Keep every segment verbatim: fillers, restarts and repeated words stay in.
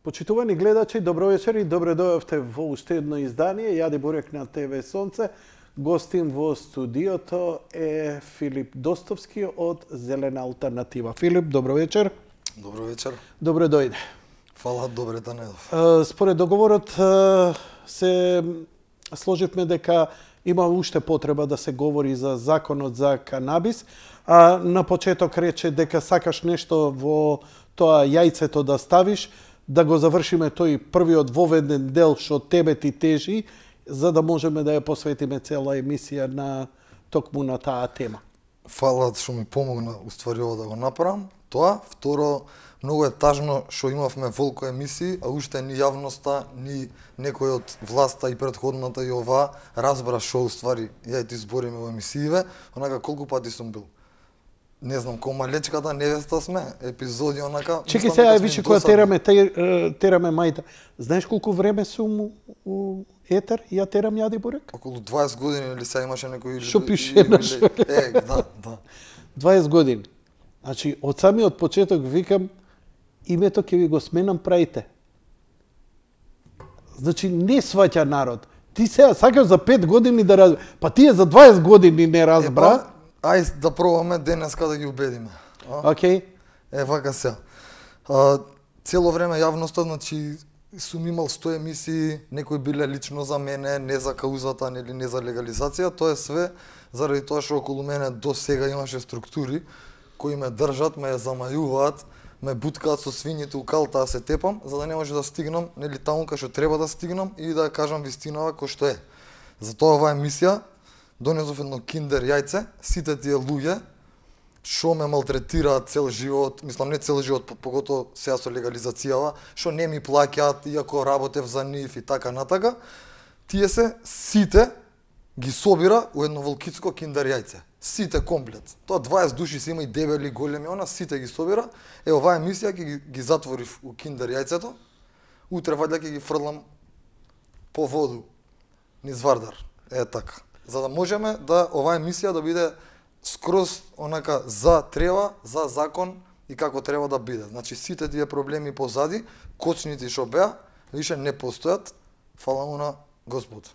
Почитувани гледачи, добро вечер и добре дојавте во уште едно издание. Јади Бурек на ТВ Сонце. Гостин во студиото е Филип Достовски од Зелена алтернатива. Филип, добро вечер. Добро вечер. Добре дојде. Фала, добре да недов. Според договорот се сложивме дека има уште потреба да се говори за законот за канабис. А на почеток рече дека сакаш нешто во тоа јајцето да ставиш, да го завршиме тој првиот воведен дел што тебе ти тежи, за да можеме да ја посветиме цела емисија на токму на таа тема. Фала што ми помогна уствари ова да го направам. Тоа, второ, многу е тажно што имавме волко емисии, а уште ни јавноста, ни некој од власта и претходната и ова разбра што уствари ја и ти збориме во емисииве, онака колку пати сум бил. Не знам, ко малечката невеста сме, епизоди онака... Чеки сега, виши која тераме, тераме мајта. Знаеш колку време сум у етер, ја терам Јади Бурек? Околу дваесет години или сега имаше некој... Што пише наш? Е, да, да. дваесет години. Значи, од самиот почеток викам, името ќе ви го сменам, праите. Значи, не сваќа народ. Ти сега сакаш за пет години да разбра. Па тие за дваесет години не разбра. Ајде да пробаме денеска да ги убедиме. Океј. Е, вака се. А, цело време јавноста, значи, сум имал сто емисии, некои биле лично за мене, не за каузата, нели не за легализација, тоа е све заради тоа што околу мене до сега имаше структури кои ме држат, ме замајуваат, ме буткаат со свињите у калта да се тепам, за да не може да стигнам, нели таму кај што треба да стигнам и да кажам вистинава кој што е. Затоа оваа емисија донесов едно киндер јајце, сите тие луѓе што ме малтретираат цел живот, мислам не цел живот, поготово сега со легализацијава, што не ми плаќаат иако работев за нив и така натака, тие се сите ги собира у едно волкитско киндер јајце. Сите комплет. Тоа дваесет души се има и дебели, големи, она сите ги собира. Е, оваа емисија ќе ги, ги затворив у киндер јајцето. Утре вајде ќе ги фрлам по воду низ Вардар. Е така. За да можеме да оваа емисија да биде скроз онака за треба, за закон и како треба да биде. Значи сите тие проблеми позади, кочници што беа, више не постојат. Фала му на Господ.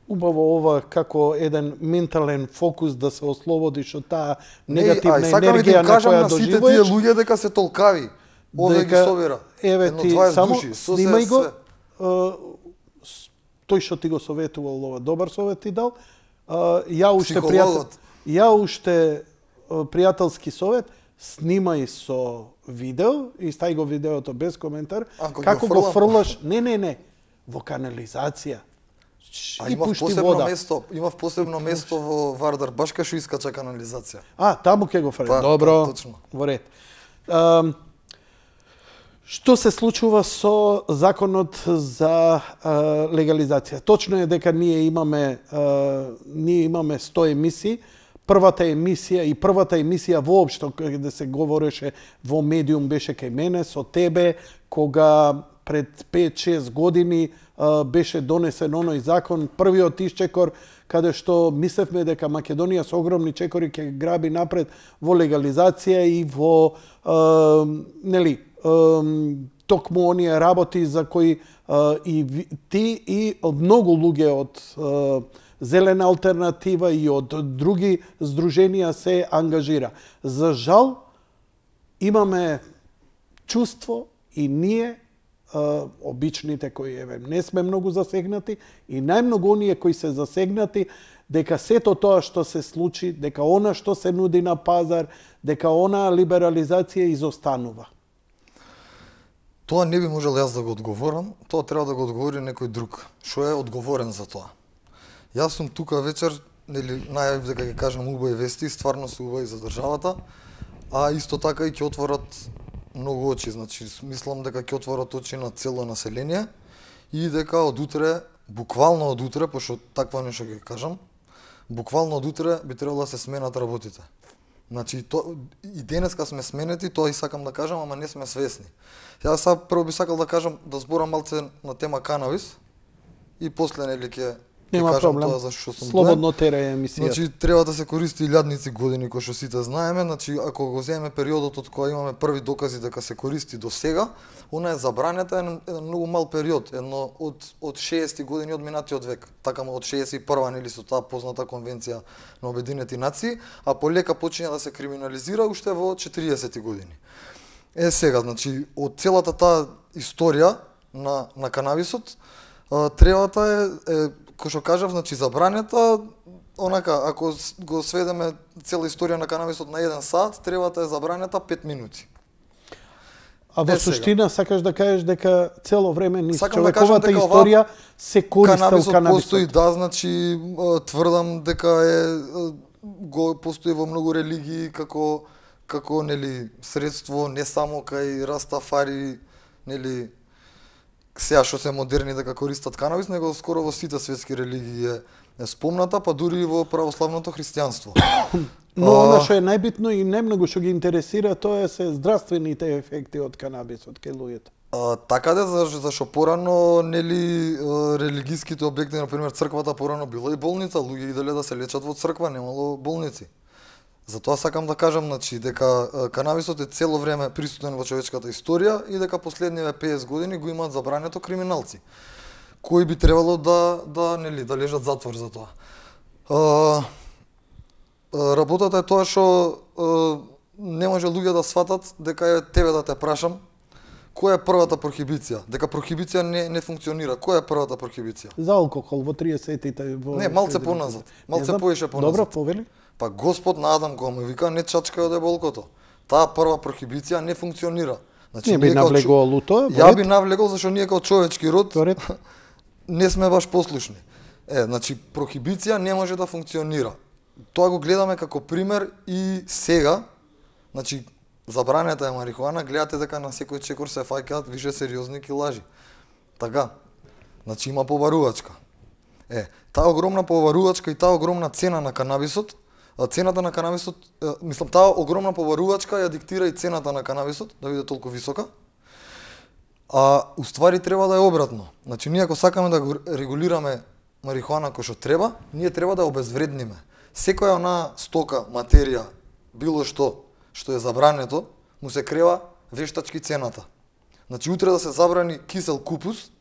Убаво ова како еден ментален фокус да се ослободиш од таа негативна не, енергија на која на сите тие луѓе дека се толкави. Овде ги собира. Еве ти само души, снимај го. Тој што ти го советувал, ова добар совет ти дал. Ја уште пријател, ја уште пријателски совет, снимај со видео и стај го видеото без коментар. Како го фрлаш? Не, не, не. Во канализација. А имав посебно вода. место, имав посебно место во Вардар, баш кај што искача канализација. А, таму ќе го фрлаш. Па, добро. Точно. Во ред. А, што се случува со законот за а, легализација? Точно е дека ние имаме а, ние имаме сто емисии. Првата емисија и првата емисија воопшто каде се говореше во медиум беше кај мене со тебе, кога пред пет-шест години а, беше донесен оној закон, првиот исчекор, каде што мислевме дека Македонија со огромни чекори ќе граби напред во легализација и во а, нели а, токму оние работи за кои а, и ти и многу луѓе од а, Зелена алтернатива и од други здруженија се ангажира. За жал имаме чувство и ние обичните кои еве не сме многу засегнати и најмногу оние кои се засегнати дека сето тоа што се случи, дека она што се нуди на пазар, дека она либерализација изостанува. Тоа не би можел јас да го одговорам, тоа треба да го одговори некој друг, што е одговорен за тоа. Јас сум тука вечер, нели најавив дека ќе кажам убави вести, стварно се убави за државата, а исто така и ќе отворат многу очи, значи мислам дека ќе отворат очи на цело население и дека од утре, буквално од утре, пошто таква нешто ќе кажам, буквално од утре би требало да се сменат работите. Значи то и денеска сме сменети, тоа и сакам да кажам, ама не сме свесни. Јас сега прво би сакал да кажам да зборам малце на тема канабис и после нели ќе Нема кажам проблем. тоа зашто сум Слободно терај емисија. Значи треба да се користи илјадници години кои што сите знаеме, значи ако го земеме периодот од кога имаме први докази дека се користи до сега, она е забранета еден, еден многу мал период, едно од од шеесетти години од минатиот век. Така од шеесет и прва нели со таа позната конвенција на Обединети нации, а полека почиња да се криминализира уште во четириесетти години. Е сега, значи од целата таа историја на на канабисот, требата е, е кој што кажав, значи забранета, онака, ако го сведеме цела историја на канабисот на еден сат, требата е забранета пет минути. А во суштина сакаш да кажеш дека цело време низ човековата да историја се користел канабисот? Канабисот постои, да, значи тврдам дека е го постои во многу религии како како нели средство не само кај растафари, нели сега што се модерни дека користат канабис, него скоро во сите светски религии е, е спомната, па дури и во православното христијанство. Но она што е најбитно и најмногу што ги интересира, тоа е се здравствените ефекти од канабисот кај луѓето. А, така да, зашто порано, нели, религиските објекти, например, црквата порано била и болница, луѓе иделе да се лечат во црква, немало болници. Затоа сакам да кажам, значи, дека канабисот е цело време присутен во човечката историја и дека последниве песет години го имаат забрането криминалци, кои би требало да да нели да лежат затвор за тоа. А, работата е тоа што не може луѓе да сватат дека е тебе да те прашам која е првата прохибиција, дека прохибиција не не функционира. Која е првата прохибиција? За алкохол во триесеттите во Не, малце поназад. Малце поише поназад. Добро, повели. Па Господ на Адам кога му вика не чачкај од еболкото. Таа прва прохибиција не функционира. Значи не би навлегол у тоа? Ја би навлегол зашто ние како човечки род Торет. не сме баш послушни. Е, значи прохибиција не може да функционира. Тоа го гледаме како пример и сега. Значи забранета е марихуана, гледате дека на секој чекор се фаќаат више сериозни килажи. Така. Значи има побарувачка. Е, таа огромна побарувачка и таа огромна цена на канабисот, цената на канабисот, мислам, таа огромна побарувачка ја диктира и цената на канабисот да биде толку висока. А уствари треба да е обратно. Значи ние ако сакаме да го регулираме марихуана кој што треба, ние треба да ја обезвредниме. Секоја она стока, материја, било што што е забрането, му се крева вештачки цената. Значи утре да се забрани кисел купус,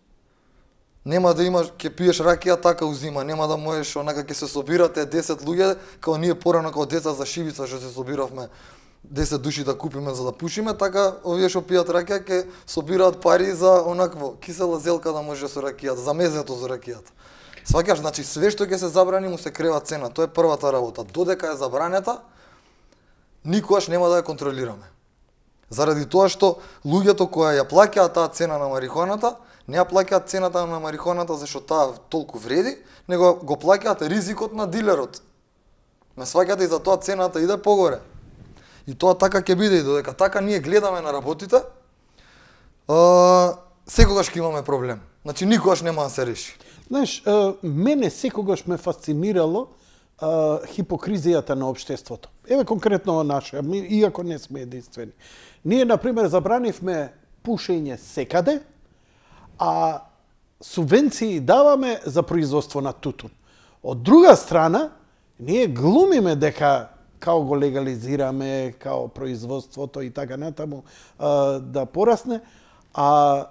нема да имаш, ќе пиеш ракија, така узима, нема да можеш, онака ќе се собирате десет луѓе, како ние порано како деца за шибица што се собиравме десет души да купиме за да пушиме, така овие што пијат ракија ќе собираат пари за онакво кисела зелка да може со ракијата, за мезето за ракијата. Сваќаш, значи све што ќе се забрани му се крева цена, тоа е првата работа. Додека е забранета, никогаш нема да ја контролираме. Заради тоа што луѓето кои ја плаќаат таа цена на марихуаната, не ја плаќаат цената на марихуаната зашто таа толку вреди, него го плаќаат ризикот на дилерот. Ме сваќате и за тоа цената иде погоре. И тоа така ќе биде и додека така ние гледаме на работите, а, секогаш ќе имаме проблем. Значи никогаш нема да се реши. Знаеш, мене секогаш ме фасцинирало а, хипокризијата на општеството. Еве конкретно наше, иако не сме единствени. Ние, например, забранивме пушење секаде, а субвенции даваме за производство на тутун. Од друга страна, ние глумиме дека као го легализираме, као производството и така натаму а, да порасне, а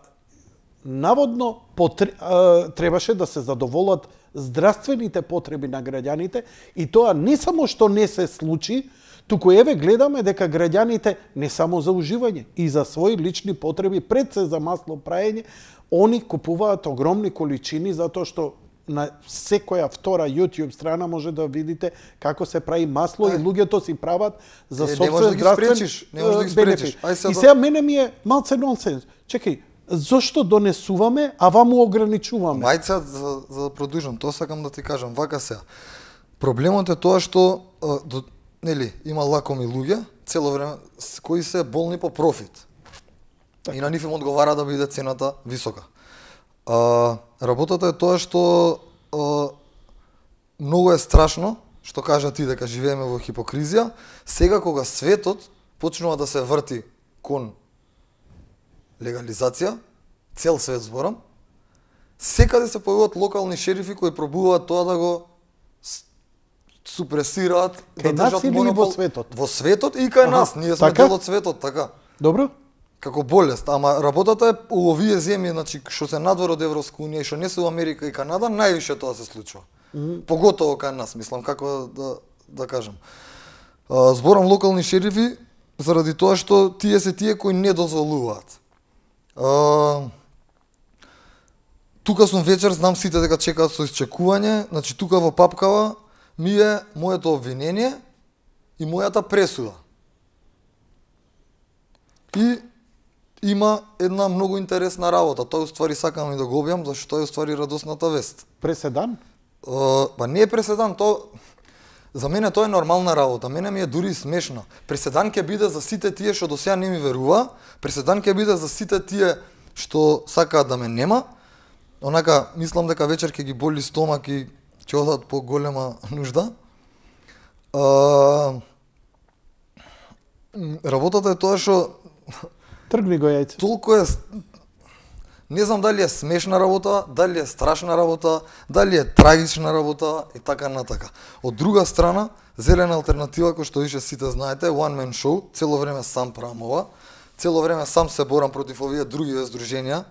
наводно потр... а, требаше да се задоволат здравствените потреби на граѓаните и тоа не само што не се случи, туку еве гледаме дека граѓаните не само за уживање и за своји лични потреби, пред се за масло праење, они купуваат огромни количини затоа што на секоја втора YouTube страна може да видите како се прави масло е, и луѓето си прават за е, собствен здравствен бенефит. И сега мене ми е малце нонсенс. Чекај, зошто донесуваме, а ваму ограничуваме? Мајца, за, за да продолжам, тоа сакам да ти кажам, вака сега. Проблемот е тоа што, а, до, нели, има лакоми луѓе, цело време, кои се болни по профит. Так. И на нив им одговара да биде цената висока. А, работата е тоа што а, многу е страшно, што кажа ти дека живееме во хипокризија, сега кога светот почнува да се врти кон легализација, цел свет зборам, секаде се појавуваат локални шерифи кои пробуваат тоа да го супресираат, Кај да нас држат или монопол во светот? Во светот и кај Аха, нас, ние сме така? дел од светот, така. Добро? Како болест, ама работата е у овие земји, значи што се надвор од Европска унија и што не се у Америка и Канада, највише тоа се случува. Mm -hmm. Поготово кај нас, мислам, како да да кажам. А, зборам локални шерифи заради тоа што тие се тие кои не дозволуваат. А, тука сум вечер, знам сите дека чекаат со исчекување, значи тука во папкава ми е моето обвинение и мојата пресуда. И има една многу интересна работа. Тоа уствари сакам и да го објам, зашто тоа е уствари радосната вест. Преседан? Uh, па не е преседан, тоа за мене тоа е нормална работа. Мене ми е дури смешна. Преседан ќе биде за сите тие што до сега не ми верува, преседан ќе биде за сите тие што сакаат да ме нема. Онака мислам дека вечер ќе ги боли стомак и ќе одат по голема нужда. Uh, работата е тоа што Тргни го јајце. толку е, не знам дали е смешна работа, дали е страшна работа, дали е трагична работа и така натака. Од друга страна, Зелена алтернатива, кој што више сите знаете, one man show, цело време сам правам ова, цело време сам се борам против овие други здруженија,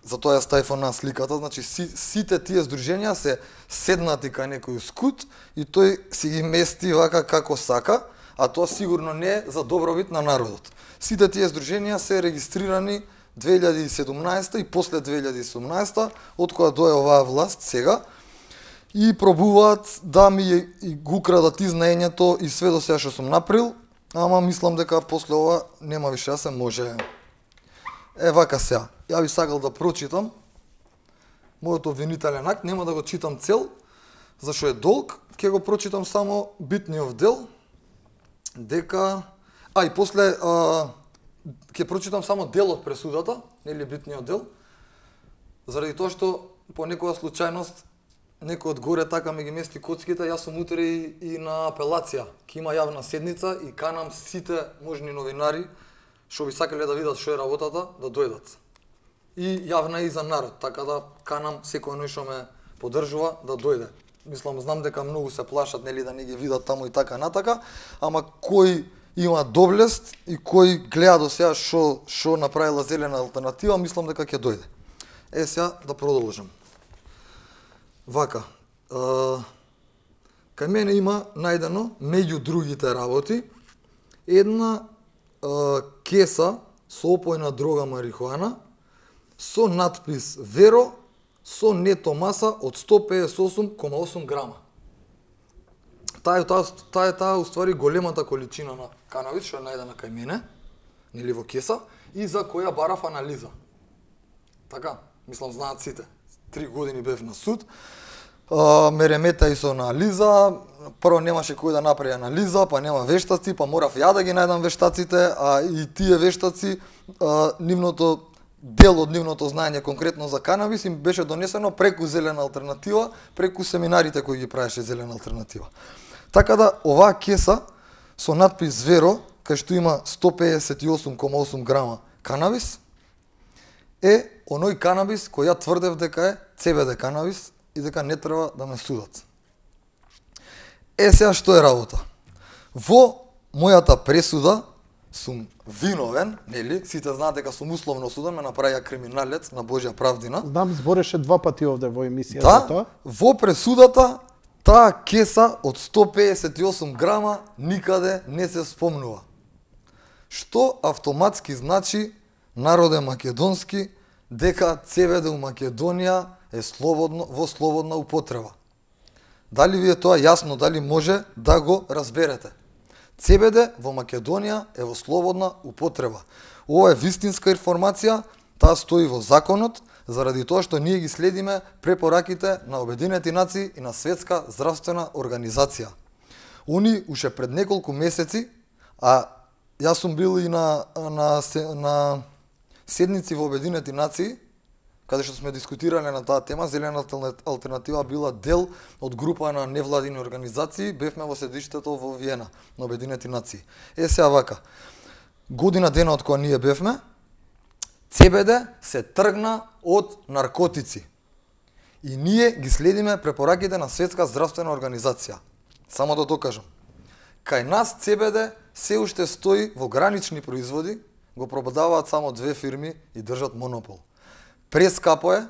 затоа ја ставив на сликата, значи си, сите тие здруженија се седнати кај некој скут и тој си ги мести вака како сака, а тоа сигурно не е за добробит на народот. Сите тие здруженија се регистрирани две илјади и седумнаесета и после две илјади и седумнаесета, од кога дое оваа власт сега, и пробуваат да ми и го крадат изнаењето и све до сега што сум направил, ама мислам дека после ова нема више да се може. Е, вака сега. Ја би сакал да прочитам мојот обвинителен акт, нема да го читам цел, зашто е долг, ќе го прочитам само битниот дел, дека... А, и после а, ќе прочитам само дел од пресудата, нели битниот дел, заради тоа што по некоја случајност некој од горе така ми ги мести коцките, јас сум утре и, и на апелација. Ке има јавна седница и канам сите можни новинари што би сакале да видат што е работата, да дојдат. И јавна и за народ, така да канам секој оној што ме поддржува да дојде. Мислам, знам дека многу се плашат, нели, да не ги видат таму и така натака, ама кој има доблест и кој гледа до сега што што направила Зелена алтернатива, мислам дека ќе дојде. Е, сега да продолжам. Вака, е, кај мене има најдено, меѓу другите работи, една е, кеса со опојна дрога марихуана со надпис Веро со нето маса од сто педесет и осум кома осум грама. Таа е таа, таа е таа уствари големата количина на канабис што е најдена кај мене, нели во кеса, и за која барав анализа. Така, мислам знаат сите. Три години бев на суд. А, ме ремета и со анализа. Прво немаше кој да направи анализа, па нема вештаци, па морав ја да ги најдам вештаците, а и тие вештаци, а, нивното дел од нивното знаење конкретно за канабис им беше донесено преку Зелена алтернатива, преку семинарите кои ги правеше Зелена алтернатива. Така да оваа кеса со надпис Веро, кај што има сто педесет и осум кома осум грама канабис, е оној канабис кој ја тврдев дека е Це Бе Де канабис и дека не треба да ме судат. Е, сега што е работа? Во мојата пресуда сум виновен, нели? Сите знаат дека сум условно суден, ме направија криминалец на Божја правдина. Знам, збореше два пати овде во емисија да, за тоа. Во пресудата таа кеса од сто педесет и осум грама никаде не се спомнува. Што автоматски значи, народе македонски, дека Це Бе Де у Македонија е слободно, во слободна употреба. Дали ви е тоа јасно, дали може да го разберете? Це Бе Де во Македонија е во слободна употреба. Ова е вистинска информација, таа стои во законот, заради тоа што ние ги следиме препораките на Обединети нации и на Светска здравствена организација. Они уште пред неколку месеци, а јас сум бил и на, на, на седници во Обединети нации, каде што сме дискутирале на таа тема, Зелена алтернатива била дел од група на невладини организации, бевме во седиштето во Виена на Обединети нации. Е, сега вака, година дена од кога ние бевме, Це Бе Де се тргна од наркотици. И ние ги следиме препораките на Светска здравствена организација. Само да докажам. Кај нас Це Бе Де се уште стои во гранични производи, го продаваат само две фирми и држат монопол. Прескапо е.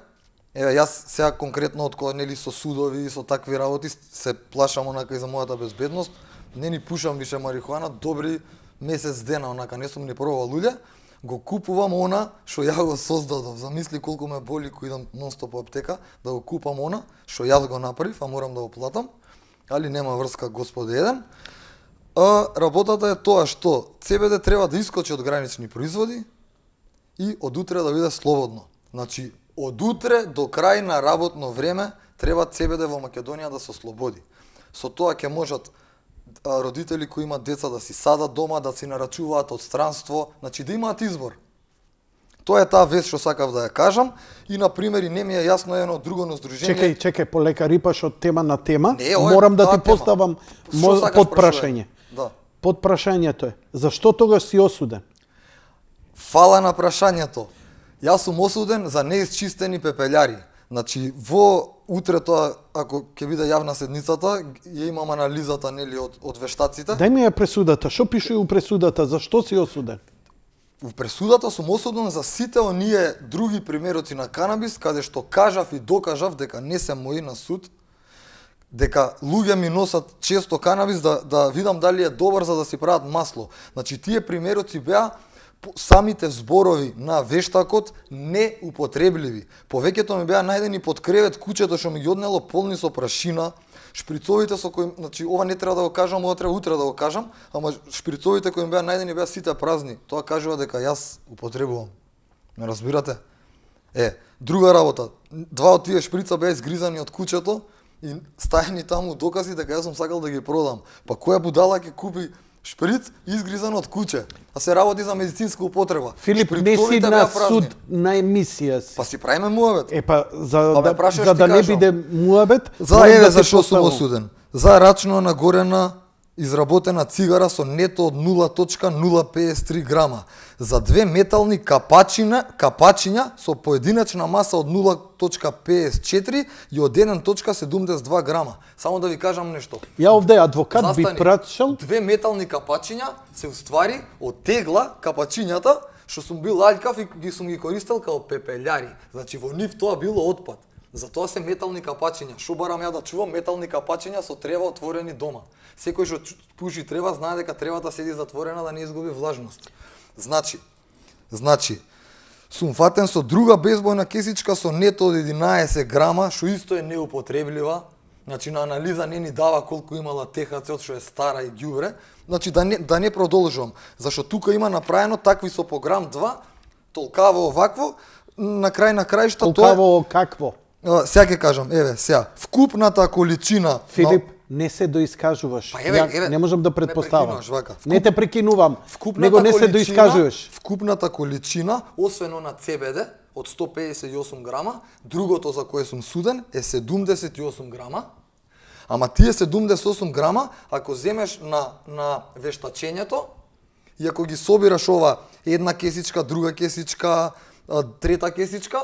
Еве, јас сега конкретно од кога нели со судови и со такви работи се плашам онака и за мојата безбедност. Не ни пушам више марихуана, добри месец дена, онака не сум ни пробал луѓе. Го купувам она што ја го создадов. Замисли колку ме боли кој идам нонстоп по аптека да го купам она што јас го направив, а морам да го платам. Али нема врска, Господи еден. А работата е тоа што Це Бе Де треба да искочи од гранични производи и од утре да биде слободно. Значи, од утре до крај на работно време треба Це Бе Де во Македонија да се ослободи. Со тоа ќе можат родители кои имаат деца да си садат дома, да си нарачуваат од странство, значи да имаат избор. Тоа е таа вест што сакав да ја кажам и на пример и не ми е јасно едно друго здружение. Чекај, чекај, полека рипаш од тема на тема. Не, ова е Морам да таа ти тема. поставам Што мо- сакаш подпрашање. Да. Подпрашањето е, зашто тогаш си осуден? Фала на прашањето. Јас сум осуден за неисчистени пепелјари. Значи, во утре тоа, ако ќе биде јавна седницата, ја имам анализата нели од, од вештаците. Дај ми ја пресудата, што пише у пресудата, зашто си осуден? Во пресудата сум осуден за сите оние други примероци на канабис, каде што кажав и докажав дека не се мои на суд, дека луѓе ми носат често канабис да, да видам дали е добар за да си прават масло. Значи, тие примероци беа самите зборови на вештакот неупотребливи. Повеќето ми беа најдени под кревет, куќето што ми ги однело полни со прашина, шприцовите со кои, значи ова не треба да го кажам, ова треба утре да го кажам, ама шприцовите кои ми беа најдени беа сите празни. Тоа кажува дека јас употребувам. Ме разбирате? Е, друга работа. Два од тие шприца беа изгризани од куќето и стајани таму докази дека јас сум сакал да ги продам. Па која будала ќе купи шприц изгризан од куќе, а се работи за медицинска употреба. Филип, не си Шприцовите на беа празни. суд на емисија си. Па си правиме муабет. Е па за Па ме да, прашаш, за ти да не кажам. биде муабет, За морам еве да ти зашо сум поставам. осуден. За рачно нагорена изработена цигара со нето од нула zarez нула педесет и три грама. За две метални капачина, капачиња со поединечна маса од нула zarez педесет и четири и од еден zarez седумдесет и два грама. Само да ви кажам нешто. Ја овде адвокат би Застани. прашал, Две метални капачиња се уствари од тегла капачињата што сум бил аљкав и ги сум ги користел као пепелјари. Значи во нив тоа било отпад. Затоа се метални капачиња. Шо барам ја да чувам метални капачиња со трева отворени дома. Секој што пуши трева знае дека тревата седи затворена да не изгуби влажност. Значи, значи сум фатен со друга безбојна кесичка со нето од единаесет грама, што исто е неупотреблива. Значи на анализа не ни дава колку имала Те Ха Це, што е стара и ѓубре. Значи да не да не продолжувам, зашто тука има направено такви со по грам два, толкаво овакво, на крај на крајшта тоа е. толкаво какво? А, Сега ќе кажам, еве, сега, вкупната количина. Филип, не се доискажуваш. Па еве, Ја еве, не можам да ме предпоставам. прекинуваш вака. Не те прекинувам, Вкупната него не се количина- доискажуваш. Вкупната количина, освен на Це Бе Де, од сто педесет и осум грама, другото за кое сум суден е седумдесет и осум грама. Ама тие седумдесет и осум грама, ако земеш на, на вештачењето, и ако ги собираш ова една кесичка, друга кесичка, а, трета кесичка,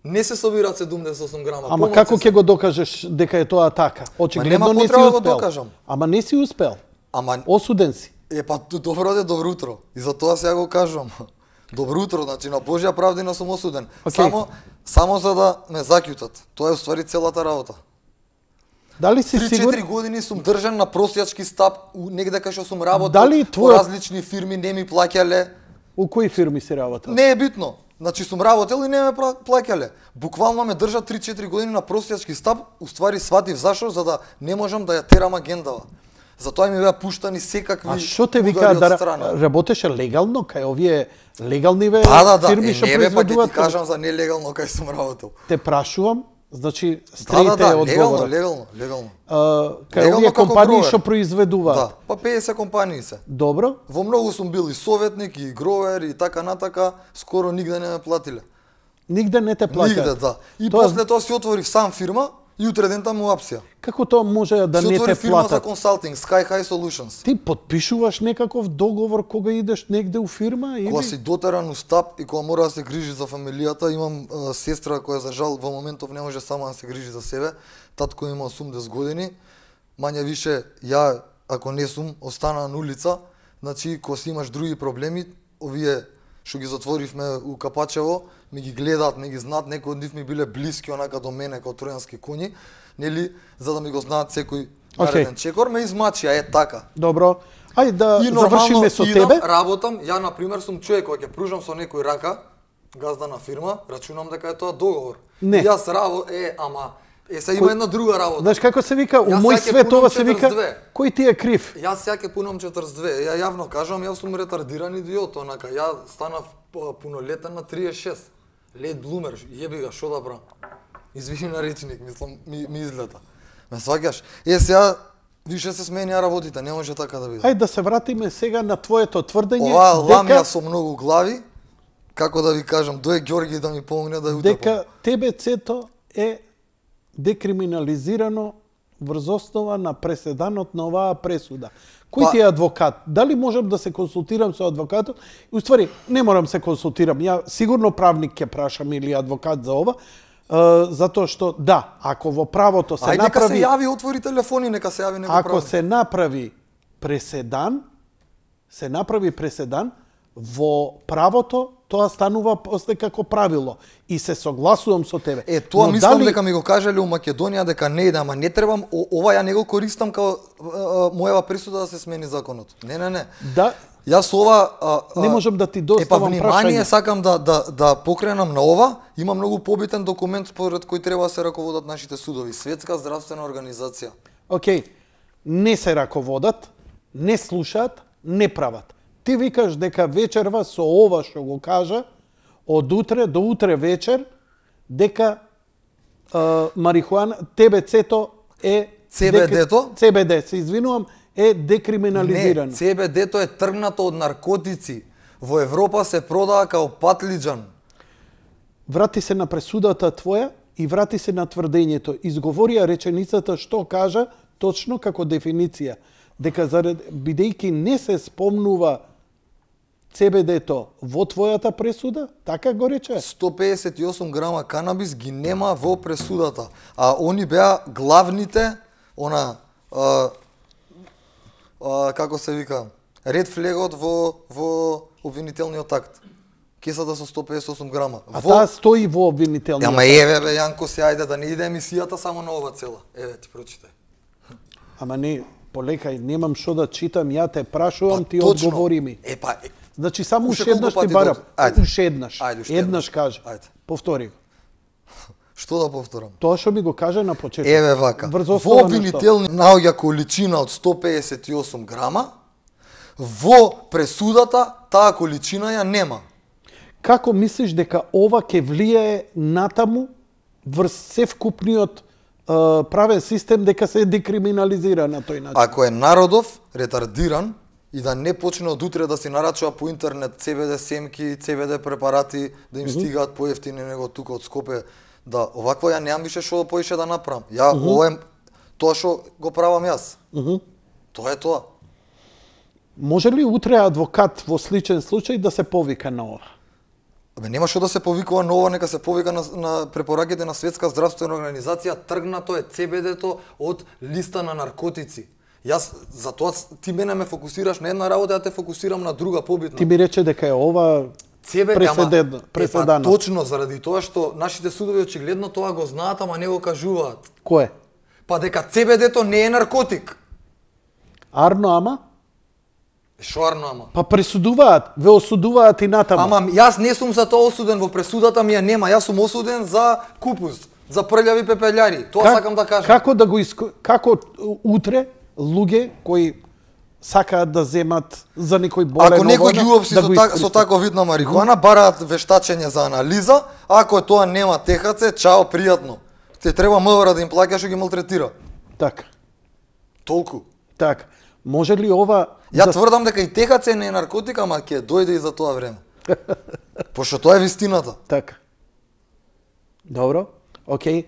не се собираат седумдесет и осум грама. Ама помалку како се. ќе го докажеш дека е тоа така? Очигледно нема не си потреба да го успел. докажам. Ама не си успел. Ама Осуден си. Е, па, д- добро де, добро утро. И за тоа сега го кажувам. Добро утро, значи на Божја правдина сум осуден. Океј. Само, само за да ме заќутат. Тоа е уствари целата работа. Дали си три-четири сигурен? години сум држан на простијачки стап, у- негде кај што сум работел, Дали по твојот- различни фирми, не ми плаќале. У кои фирми си работел? Не е битно. Значи сум работел и не ме пла- плаќале. Буквално ме држат три-четири години на простијачки стап, уствари сватив зашо, за да не можам да ја терам агендава. Затоа ми беа пуштани секакви А што те удари вика од да страна. ра- работеше легално кај овие легалниве Да, да, да. фирми Е, што не бе, па ќе ти произведуваат? кажам за нелегално кај сум работел. Те прашувам, значи Да, стрејте да, да, легално, одговорат. легално, легално. А, кај Легално овие како компании гровер. што произведуваат. Да, па педесет компании се. Добро. Во многу сум бил и советник, и гровер, и така натака, скоро нигде не ме платиле. Нигде не те плаќаат. Нигде, да. И Тоа- после тоа си отворив сам фирма и утре дента му апсија. Како тоа може да Се не отвори те фирма за платат? консалтинг, Sky High Solutions. Ти подпишуваш некаков договор кога идеш негде у фирма или Кога си дотеран у стап и кога мора да се грижи за фамилијата, имам а, сестра која за жал во моментов не може сама да се грижи за себе. Татко има осумдесет години. Мање више ја ако не сум остана на улица, значи кога си имаш други проблеми, овие што ги затворивме у Капачево, ми ги гледаат, ми ги знаат, некои од нив ми биле блиски онака до мене како тројански коњи, нели, за да ми го знаат секој нареден okay. чекор, ме измачија, е така. Добро. Ајде да И нормално завршиме со идам, тебе. работам, ја на пример сум човек кој ќе пружам со некој рака, газда на фирма, рачунам дека е тоа договор. Не. И јас раво е, ама е се има една друга работа. Знаеш како се вика, у Јас мој сега ќе свет пунам ова се вика, четиридесет две. кој ти е крив? Јас сега ќе пунам четрдесет две. Ја јавно кажам, јас сум ретардиран идиот, онака. Ја станав пунолетен на триесет и шест. Лейт блумер, јеби га, што да правам? Извини на речник, мислам, ми, ми излета. Ме сваќаш? Е, сега више се сменија работите, не може така да биде. Ајде да се вратиме сега на твоето тврдење Ова ламја дека со многу глави, како да ви кажам, дое Ѓорги да ми помогне да ја утепам. дека ТБЦ-то е декриминализирано врз основа на преседанот на оваа пресуда. Кој Па- ти е адвокат? Дали можам да се консултирам со адвокатот? И уствари, не морам се консултирам. Ја сигурно правник ќе прашам или адвокат за ова, е, затоа што да, ако во правото се Ај, нека се направи, јави, отвори телефони, нека се јави некој ако правник. се направи преседан, се направи преседан во правото, тоа станува после како правило и се согласувам со тебе. Е, тоа Но мислам дали- дека ми го кажале у Македонија дека не иде, ама не требам, о, ова ја не го користам као а, а, мојава присуда да се смени законот. Не, не, не. Да, Јас ова а, а, не можам да ти Е, па доставам внимание прашање. сакам да да да покренам на ова. Има многу побитен документ според кој треба да се раководат нашите судови. Светска здравствена организација. Океј, не се раководат, не слушаат, не прават. Ти викаш дека вечерва со ова што го кажа, од утре до утре вечер, дека а, марихуана, ТБЦ-то е... ЦБД-то? ЦБД, се извинувам, е декриминализирано. Не, ЦБД-то е тргнато од наркотици. Во Европа се продава као патлиџан. Врати се на пресудата твоја и врати се на тврдењето. Изговорија реченицата што кажа точно како дефиниција. Дека зарад, бидејќи не се спомнува ЦБД-то во твојата пресуда, така го рече? сто педесет и осум грама канабис ги нема во пресудата. А они беа главните, она, а, а, како се вика, ред флегот во, во обвинителниот акт. Кесата со сто педесет и осум грама. А во... таа стои во обвинителниот. Ама еве бе, Јанко, се ајде да не иде емисијата само на ова цела. Еве, ти прочитай. Ама не, полекај, немам што да читам, ја те прашувам, Па, ти точно. одговори ми. Е, па, е, Значи само Уште уште еднаш колку ти пати барам. додека? Ајде. Уште еднаш. Ајде, уште Еднаш еднаш. кажи. Ајде. Повтори го. што да повторам? Тоа што ми го кажа на почеток. Еве вака. Врз Во основа на што? обвинителни наоѓа количина од сто педесет и осум грама. Во пресудата таа количина ја нема. Како мислиш дека ова ќе влијае натаму врз севкупниот е, правен систем дека се декриминализира на тој начин? Ако е народов ретардиран и да не почне од утре да си нарачува по интернет ЦБД семки, ЦБД препарати, да им стигаат поевтини него тука од Скопје, да овакво ја немам више што поише да направам. Ја Uh -huh. ова е тоа што го правам јас. Uh -huh. Тоа е тоа. Може ли утре адвокат во сличен случај да се повика на ова? Абе нема што да се повикува на ова, нека се повика на, на препораките на Светска здравствена организација, тргнато е ЦБД-то од листа на наркотици. Јас за тоа ти мене ме фокусираш на една работа, ја те фокусирам на друга побитна. Ти ми рече дека е ова Цебе, преседено, преседано. Е, па, точно заради тоа што нашите судови очигледно тоа го знаат, ама не го кажуваат. Кое? Па дека ЦБД-то не е наркотик. Арно ама? Шо арно ама? Па пресудуваат, ве осудуваат и натаму. Ама јас не сум за тоа осуден, во пресудата ми ја нема. Јас сум осуден за купус, за прљави пепелјари. Тоа Как- сакам да кажам. Како да го иско... како утре луѓе кои сакаат да земат за некој болен Ако некој ги овој, уопси да со, го так, со искористат? таков вид на марихуана, бараат вештачење за анализа, ако тоа нема Т Х Ц, чао, пријатно. Те треба МВР да им плаќа што ги малтретира. Така, Толку. така. Може ли ова Ја да... тврдам дека и Т Х Ц не е наркотик, ама ќе дојде и за тоа време. Пошто тоа е вистината. Така. Добро, окей,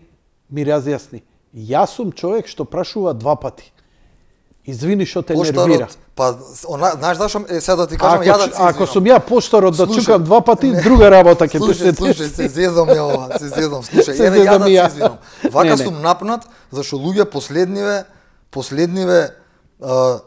ми разјасни. Јас сум човек што прашува два пати. Извини што те нервира. Па, она, знаеш зашо, е, сега да ти кажам, ако, ја да се извинам. Ако сум ја поштарот да Слушай, чукам два пати, не, друга работа ќе слушай, се слушай, се зезам ја ова, се зезам, слушај, Се еве ја зезам да и ја. се извинам. Вака Не, не. сум напнат, зашто луѓе последниве, последниве, а,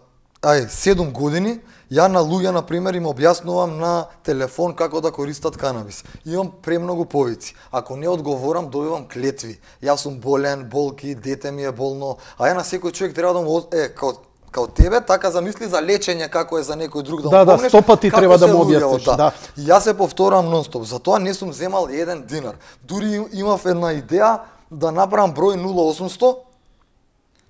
ај, седум години, ја на луѓе, на пример, им објаснувам на телефон како да користат канабис. Имам премногу повици. Ако не одговорам, добивам клетви. Јас сум болен, болки, дете ми е болно, а ја на секој човек треба да му од- е као као тебе, така замисли за лечење како е за некој друг да му Да, да, помогнеш, сто пати како треба да се му луѓето, објасниш, да. И јас се повторам нон-стоп, затоа не сум земал еден динар. Дури имав една идеја да направам број нула осумсто,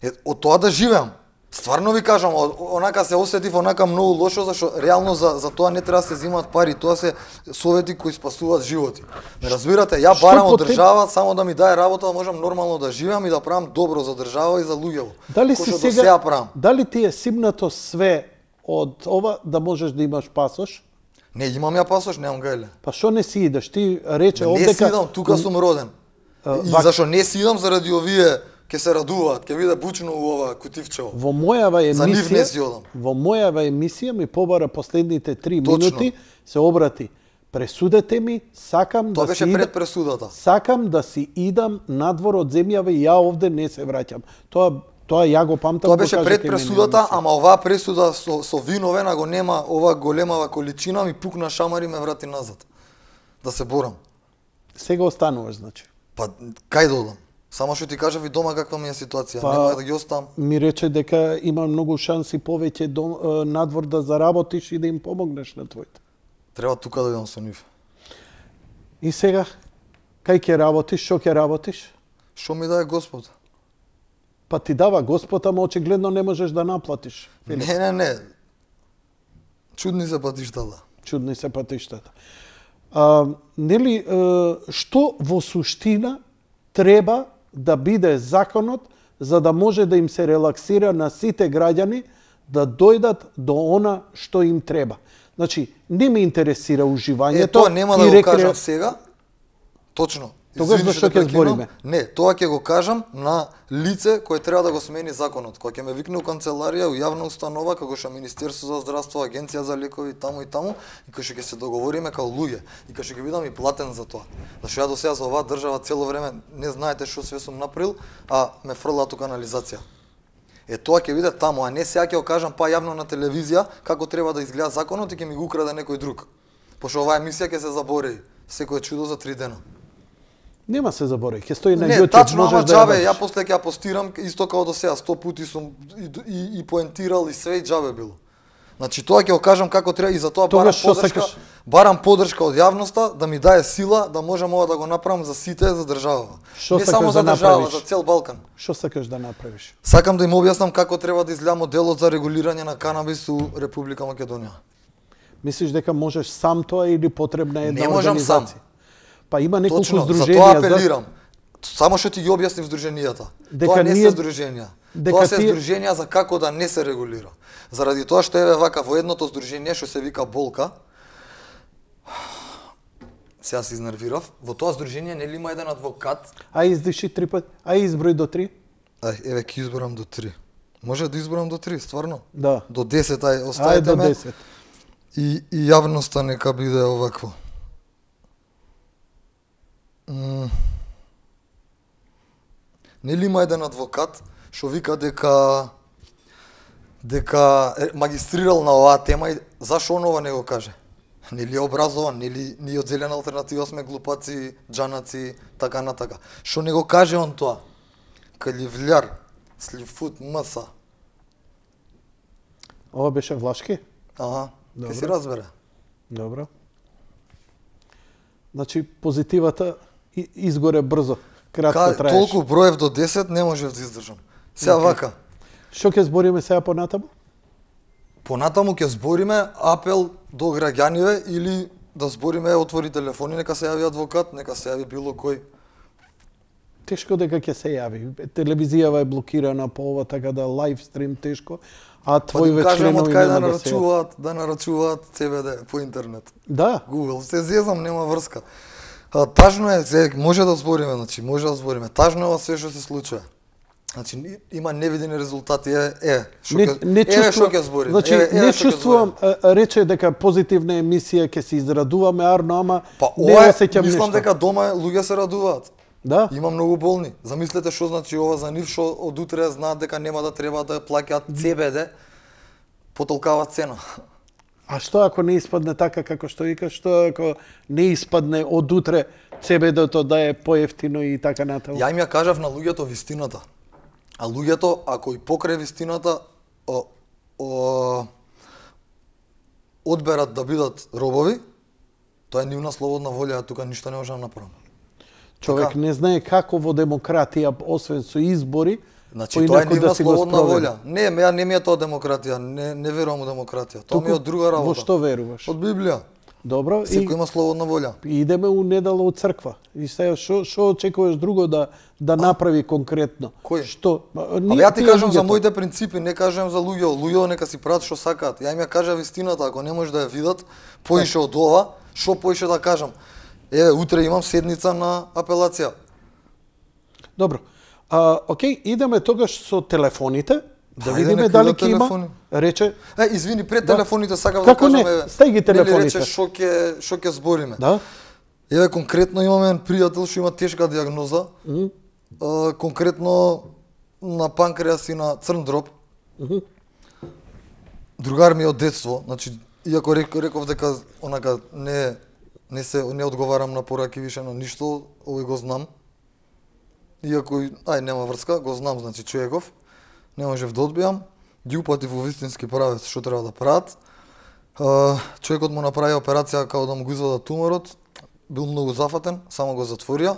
е, од тоа да живеам. Стварно ви кажам, о- онака се осетив онака многу лошо, зашто реално за, за тоа не треба да се земаат пари, тоа се совети кои спасуваат животи. Ме разбирате, ја Што барам од потеп- држава само да ми даде работа, да можам нормално да живеам и да правам добро за држава и за луѓето. Дали Кој си што до сега, сега правам. дали ти е симнато све од ова да можеш да имаш пасош? Не, имам ја пасош, немам гајле. Па што не си идеш? Ти рече Не овдека... си идам, тука сум роден. А, И вак- зашо не си идам заради овие ќе се радуваат, ќе биде бучно у ова кутивчево. Во мојава За нив не емисија, си одам. во мојава емисија ми побара последните три Точно. минути, се обрати. Пресудете ми, сакам Тоа да беше си пред идам, пресудата. сакам да си идам надвор од земјава и ја овде не се враќам. Тоа тоа ја го памтам. Тоа го беше кажа пред кај мене пресудата, емисија. ама оваа пресуда со, со виновен, го нема ова големава количина, ми пукна шамар и ме врати назад. Да се борам. Сега остануваш, значи. Па, кај да одам? Само што ти кажав и дома каква ми е ситуација, Па, нема да ги оставам. Ми рече дека има многу шанси повеќе до, е, надвор да заработиш и да им помогнеш на твоите. Треба тука да идам со нив. И сега, кај ќе работиш, што ќе работиш? Што ми даде Господ? Па ти дава Господ, ама очигледно не можеш да наплатиш. Филип. Не, не, не. Чудни се патиштата. Чудни се патиштата. А, нели, е, што во суштина треба да биде законот за да може да им се релаксира на сите граѓани да дојдат до она што им треба. Значи, не ме интересира уживањето. Е, тоа нема да и го рекре- кажам сега. Точно. Тогаш Извини зашто што те ќе прекинам. збориме? Не, тоа ќе го кажам на лице кое треба да го смени законот. Кога ќе ме викне у канцеларија, у јавна установа, како што Министерство за здравство, Агенција за лекови, таму и таму, и кога што ќе се договориме као луѓе, и кога што ќе бидам и платен за тоа. Зашто ја до сега за оваа држава цело време не знаете што све сум направил, а ме фрлаат у канализација. Е, тоа ќе биде таму, а не сега ќе го кажам па јавно на телевизија како треба да изгледа законот и ќе ми го украде некој друг. Пошто оваа емисија ќе се забореи. Секој чудо за три дена. Нема се заборави, ќе стои на Не, YouTube, тачно, можеш ама да ја џабе, видиш. ја после ќе ја постирам исто како до сега, сто пути сум и, и, и поентирал и све и џабе било. Значи тоа ќе го кажам како треба и за тоа барам Тогаш што поддршка, сакаш? барам поддршка од јавноста да ми даде сила да можам ова да го направам за сите за државава. Што Не сакаш само за да држава, направиш? за цел Балкан. Што сакаш да направиш? Сакам да им објаснам како треба да изгледа моделот за регулирање на канабис у Република Македонија. Мислиш дека можеш сам тоа или потребна е една Не можам сам. организација? Па има неколку Точно, за здруженија тоа апелирам. Само што ти ги објаснив здруженијата. Дека Тоа не ние- се здруженија. дека Тоа се тие- здруженија за како да не се регулира. Заради тоа што еве вака во едното здружение што се вика Болка, сега се изнервирав, во тоа здружение нели има еден адвокат, А издиши три пати, а изброј до три? ај еве ќе изборам до три. Може да изборам до три, стварно? Да. До десет, ај Ајде оставете до ме. десет. И, и јавноста нека биде овакво. М. Нели има еден адвокат што вика дека дека е магистрирал на оваа тема и зашо он ова не го каже? Нели е образован, нели ние од Зелена алтернатива сме глупаци, џанаци, така на така. Што не го каже он тоа? Каливљар, сливфут, маса. Ова беше влашки? Ага, ќе Добро. се разбере. Добро. Значи позитивата и- изгоре брзо, кратко Ка, траеш. толку броев до десет не можев да издржам. Сега Океј. вака, Што ќе збориме сега понатаму? понатаму ќе збориме апел до граѓаниве или да збориме отвори телефони, нека се јави адвокат, нека се јави било кој. Тешко дека ќе се јави. Телевизијава е блокирана по ова, така да лайв стрим тешко, а Па да твоиве им кажем од членови кај да нема да се... нарачуваат, да нарачуваат C B D по интернет. Да, Google, се зезам, нема врска. А, тажно е, се, може да збориме, значи, може да збориме. Тажно е ова све што се случува. Значи ни- има невидени резултати, е, е, што Не, ќе не еве чувствувам, што ќе зборим. значи, еве, еве не што ќе чувствувам, зборим. а, рече дека позитивна емисија ќе се израдуваме, арно, ама Па не ова е, осеќам мислам нешто. дека дома луѓе се радуваат. Да? Има многу болни. Замислете што значи ова за нив, што од утре знаат дека нема да треба да плаќаат Це Бе Де по толкава цена. А што ако не испадне така како што викаш, што ако не испадне од утре Це Бе Де-то да е поевтино и така натаму? Ја им ја кажав на луѓето вистината. А луѓето, ако и покрај вистината о, о, одберат да бидат робови, тоа е нивна слободна волја, а тука ништо не може да направам. Човек Така. не знае како во демократија, освен со избори, Значи тоа е поинаку нивна да си го слободна спроведе. волја. Не, ја не ми е тоа демократија, не не верувам у демократија. Тоа ми е од друга работа. Во што веруваш? Од Библија. Добро, Секој и има слободна волја. идеме у недела од црква. И сега што што очекуваш друго да да направи конкретно? Кој? Што? Абе ја ти кажам за моите принципи, не кажам за луѓето. Луѓето нека си прават што сакаат. Ја им ја кажа вистината, ако не може да ја видат поише од ова, што поише да кажам? Еве, утре имам седница на апелација. Добро. А, окей, идеме тогаш со телефоните, да Хајде, видиме нека дали идат ќе има. телефони. Рече, Е, извини, пред Да. телефоните сакав Како да не? кажам, еве. Стај ги нели телефоните. рече што ќе што ќе збориме. да? Еве конкретно имаме еден пријател што има тешка дијагноза. Мгм. Uh, конкретно на панкреас и на црн дроб. Мгм. Другар ми е од детство, значи иако рек, реков дека онака не не се не одговарам на пораки више на ништо, овој го знам. Иако и- ај нема врска, го знам значи човеков. Не можев да одбијам. Ги упатив во вистински правец што треба да прават. Uh, човекот му направи операција како да му го извадат туморот. Бил многу зафатен, само го затворија.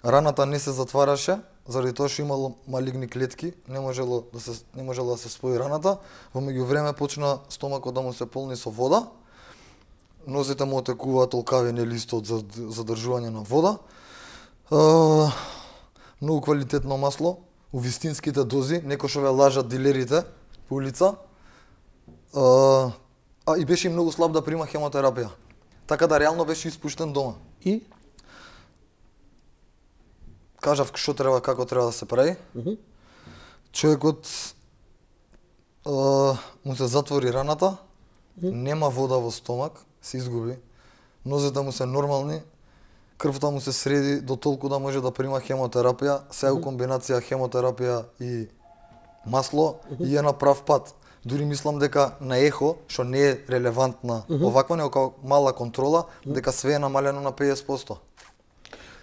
Раната не се затвараше, заради тоа што имало малигни клетки, не можело да се не можело да се спои раната. Во меѓувреме почна стомакот да му се полни со вода. Нозете му отекуваат толкави нели исто од зад- задржување на вода. Uh, многу квалитетно масло, у вистинските дози, некој што ве лажат дилерите по улица. Uh, а и беше многу слаб да прима хемотерапија. Така да реално беше испуштен дома. И Кажав што треба, како треба да се прави. Мгм. Човекот а, му се затвори раната, нема вода во стомак, се изгуби. Нозете му се нормални, крвта му се среди до толку да може да прима хемотерапија, се у комбинација хемотерапија и масло и е на прав пат. Дури мислам дека на ехо, што не е релевантна оваква, него како мала контрола, дека све е намалено на педесет проценти.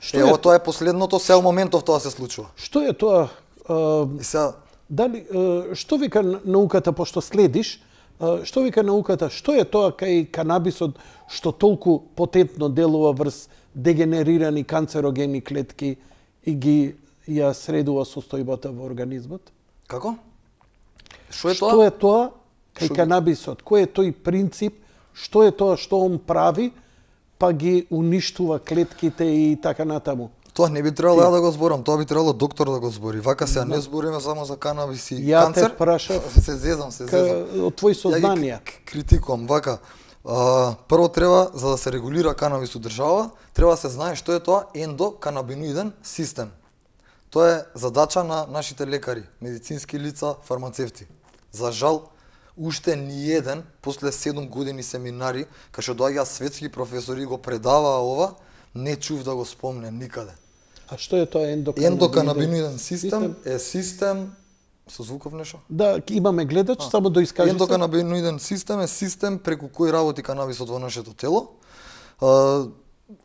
што Е, е ова тоа е последното, се у моментов тоа се случува. што е тоа? а, И сега, Дали а, што вика н- науката пошто следиш? а, Што вика науката? Што е тоа кај канабисот што толку потентно делува врз дегенерирани канцерогени клетки и ги ја средува состојбата во организмот? како? Што е Што тоа? е тоа кај Што ги- канабисот? Кој е тој принцип? Што е тоа што он прави, па ги уништува клетките и така натаму? Тоа не би требало ја да го зборам, тоа би требало доктор да го збори. Вака сега не збориме само за канабис и Ја те канцер. прашав се зезам, се Ка, зезам. од твои Ја сознанија. ги к- критикувам вака. А, прво треба за да се регулира канабис у држава, треба да се знае што е тоа ендоканабиноиден систем. Тоа е задача на нашите лекари, медицински лица, фармацевти. За жал, уште ни еден после седум години семинари, кај што доаѓа светски професори и го предаваа ова, не чув да го спомне никаде. А што е тоа ендоканабиноиден? Ендоканабиноиден систем е систем со звуков нешто? Да, имаме гледач, само да искаже се. Ендоканабиноиден систем е систем преку кој работи канабисот во нашето тело. А,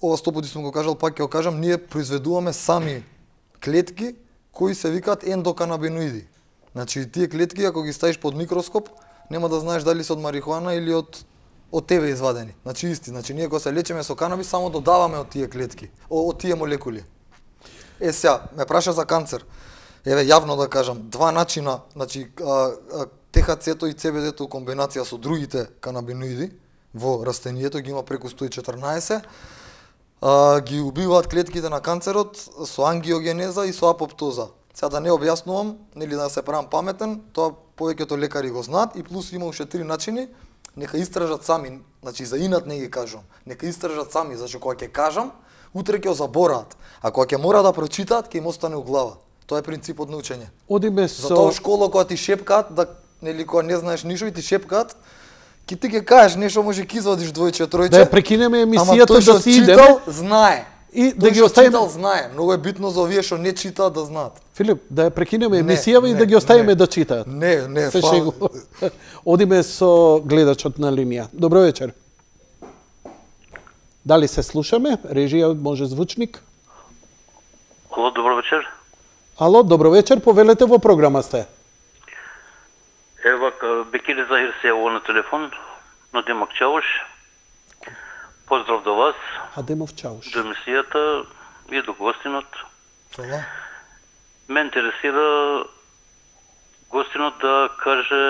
ова сто пати сум го кажал, пак ќе го кажам, ние произведуваме сами клетки кои се викаат ендоканабиноиди. Значи тие клетки ако ги ставиш под микроскоп, нема да знаеш дали се од марихуана или од од тебе извадени. Значи исти, значи ние кога се лечиме со канабис само додаваме од тие клетки, од тие молекули. Е сега, ме праша за канцер. Еве јавно да кажам, два начина, значи а, а, Т Х Ц-то и Це Бе Де-то комбинација со другите канабиноиди во растението ги има преку сто и четрнаесет. А, ги убиваат клетките на канцерот со ангиогенеза и со апоптоза. Сега да не објаснувам, нели да се правам паметен, тоа повеќето лекари го знаат и плюс има уште три начини, нека истражат сами, значи за инат не ги кажувам, нека истражат сами, зашто кога ќе кажам, утре ќе го забораат, а кога ќе мора да прочитаат, ќе им остане у глава. Тоа е принципот на учење. Одиме Затоа со школа кога ти шепкаат, да, нели кога не знаеш ништо и ти шепкаат, ки ти ќе кажеш нешто, може ќе извадиш двојче, тројче. да ја прекинеме ама емисијата тој што да си читал, идеме знае. и Тој да ги што оставиме. читал, знае. Многу е битно за овие што не читаат да знаат. Филип, да ја прекинеме Не, емисијава и не, да ги оставиме не. да читаат. Не, не, Се фал. шегу. Одиме со гледачот на линија. Добро вечер. Дали се слушаме? Режија, може звучник? Алло, добро вечер. Ало, добро вечер, повелете, во програма сте. Ева, Бекили Захир се јавува на телефон, на Демак Чавуш. Поздрав до вас, Адемов Чауш. до емисијата и до гостинот. Фала. Ме интересира гостинот да каже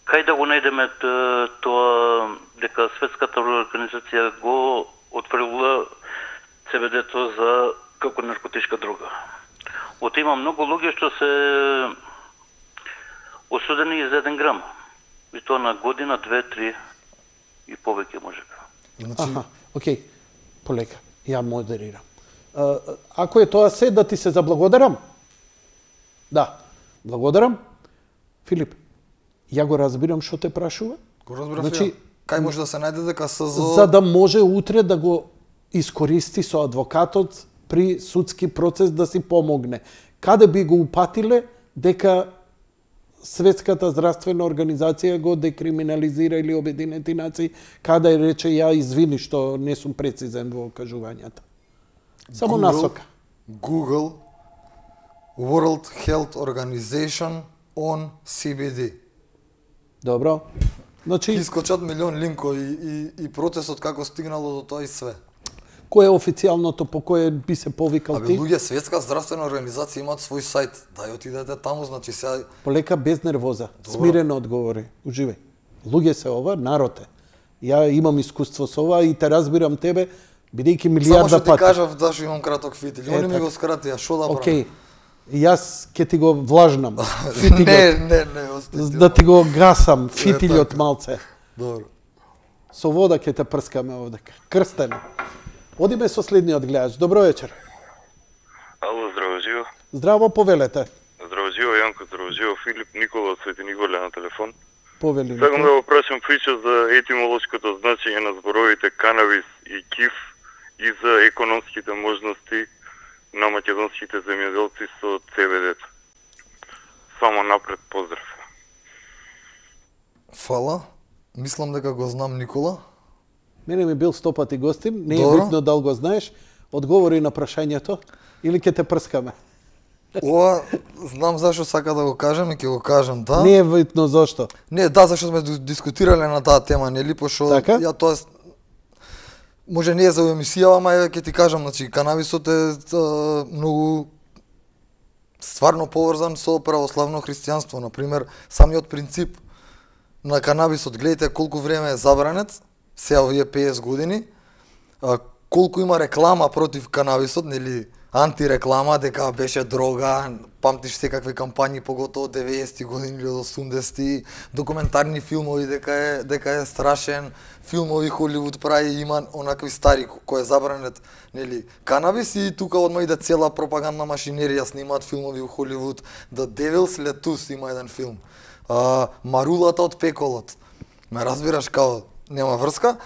кај да го најдеме т- тоа дека Светската организација го отфрлила Це Ве Де-то за како наркотичка дрога. Ото има многу луѓе што се осудени и за еден грам. И тоа на година, две, три и повеќе може би. Значи, Аха, окей, полека, ја модерирам. А, ако е тоа се, да ти се заблагодарам? Да, благодарам. Филип, ја го разбирам што те прашува. го разбрав Значи, значи, кај може да се најде дека СЗО За да може утре да го искористи со адвокатот при судски процес да си помогне. Каде би го упатиле дека Светската здравствена организација го декриминализира или Обединети нации, каде рече ја извини што не сум прецизен во кажувањата. Само Google, насока. Google World Health Organization on Си Би Ди. Добро. Ти Значи, искочат милион линкови и, и процесот како стигнало до тоа и све. кој е официјалното по кое би се повикал Абе, ти? луѓе, Светска здравствена организација имаат свој сајт. Дај отидете таму, значи сега Полека, без нервоза. Добро. Смирено одговори. Уживај. Луѓе се ова, народ е. Ја имам искуство со ова и те разбирам тебе, бидејќи само милијарда што ти пати. кажав да што имам краток фитил. Е, Они ми така. го скратија, што да правам? Океј. Јас ќе ти го влажнам. Не, Фитилот. не, не, остати. Да ти го гасам, фитилот така. малце. Добро. Со вода ќе те прскаме овдека. Крстено. Одиме со следниот гледач. Добро вечер. Ало, здраво живо. Здраво, повелете. Здраво живо, Јанко, здраво живо, Филип Никола од Свети Николе на телефон. Повели. Сакам да го прашам прича за етимолошкото значење на зборовите канабис и киф и за економските можности на македонските земјоделци со Це Ве Де-то. Само напред поздрав. Фала. Мислам дека го знам Никола. Мене ми бил сто пати гостин, не е Добро. битно дали го знаеш. Одговори на прашањето или ќе те прскаме. Ова, знам зашо сака да го кажам и ќе го кажам, да. Не е битно зошто. Не, да, зашто сме ду- дискутирале на таа тема, нели, пошто Така? ја тоа с- може не е за емисија, ама ја ќе ти кажам, значи канабисот е а, многу стварно поврзан со православно христијанство, на пример, самиот принцип на канабисот, гледате колку време е забранет, сега овие петдесет години, а, колку има реклама против канабисот, нели, антиреклама, дека беше дрога, памтиш секакви кампањи, поготово деветдесетти години или од осумдесетти, документарни филмови дека е, дека е страшен, филмови Холивуд прави, има онакви стари ко- кој е забранет, нели, канабис и тука одма иде цела пропагандна машинерија, снимаат филмови у Холивуд, The Devil's Lettuce има еден филм, а, Марулата од пеколот, ме разбираш, као нема врска,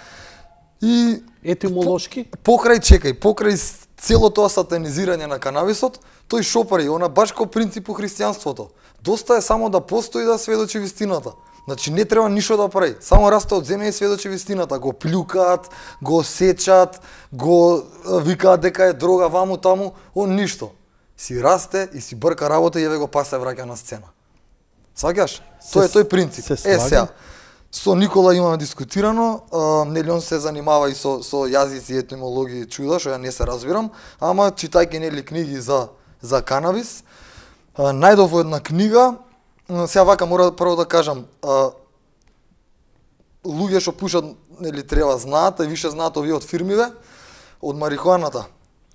и Етимолошки? покрај чекај, покрај с- цело тоа сатанизирање на канабисот, тој шо прави, она баш ко принцип у христијанството. Доста е само да постои да сведочи вистината. Значи не треба ништо да прави, само расте од земја и сведочи вистината, го плюкаат, го сечат, го а, викаат дека е дрога ваму таму, он ништо. Си расте и си брка работа и еве го па се враќа на сцена. Сваќаш? Тоа е тој принцип. се Е слагам. сега, со Никола имаме дискутирано, а, нели он се занимава и со со јазици, етимологија и чуда, што ја не се разбирам, ама читајќи нели книги за за канабис, а, најдов во една книга, м, сега вака мора прво да кажам, а, луѓе што пушат нели треба знаат, а и више знаат овие од фирмиве, од марихуаната.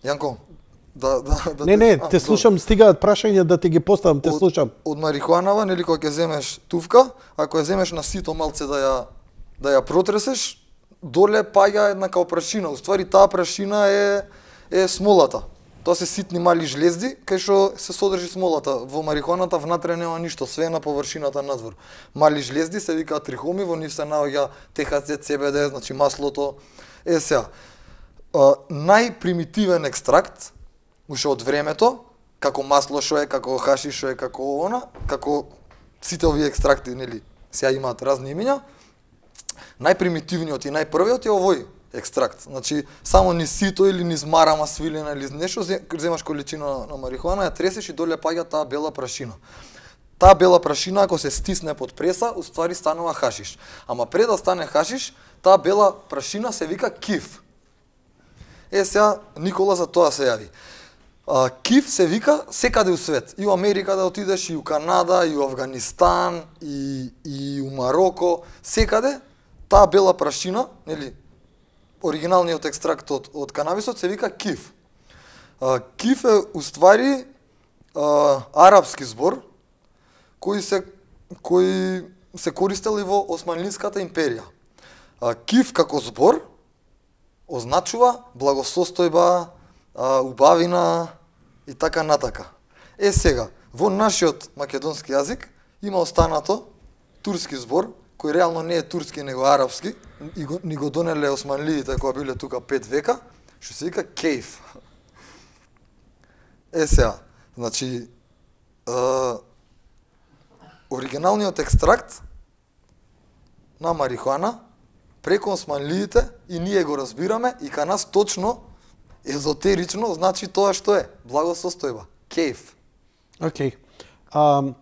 Јанко, да да да Не, не, а, те слушам, стигаат прашања да ти ги поставам, те од- слушам. Од марихуанава, нели кога ќе земеш тувка, ако ја земеш на сито малце да ја да ја протресеш, доле паѓа една као прашина. Уствари таа прашина е е смолата. Тоа се ситни мали жлезди кај што се содржи смолата. Во марихуаната внатре нема ништо, све е на површината надвор. Мали жлезди се викаат трихоми, во нив се наоѓа Т Х Ц, Ц Б Д, значи маслото. Е сега, најпримитивен екстракт уште од времето, како масло што е, како хашиш што е, како она, како сите овие екстракти, нели, сега имаат разни имиња. Најпримитивниот и најпрвиот е овој екстракт. Значи, само низ сито или низ марама свилена или нешто, земаш количина на марихуана, ја тресеш и доле паѓа таа бела прашина. Таа бела прашина, ако се стисне под преса, уствари станува хашиш. Ама пред да стане хашиш, таа бела прашина се вика киф. Е, сега, Никола за тоа се јави. А, киф се вика секаде у свет. И у Америка да отидеш, и у Канада, и у Афганистан, и, и у Мароко. Секаде, таа бела прашина, нели, оригиналниот екстракт од, од канабисот се вика киф. А, киф е уствари а, арапски збор кој се кој се користел и во Османлиската империја. А, киф како збор означува благосостојба, а, убавина и така натака. Е сега, во нашиот македонски јазик има останато турски збор кој реално не е турски, него арапски, и го, ни го донеле османлиите кои биле тука пет века, што се вика кейф. Е сега, значи, е, оригиналниот екстракт на марихуана преку османлиите и ние го разбираме и кај нас точно езотерично значи тоа што е благосостојба, кейф. Океј. Okay.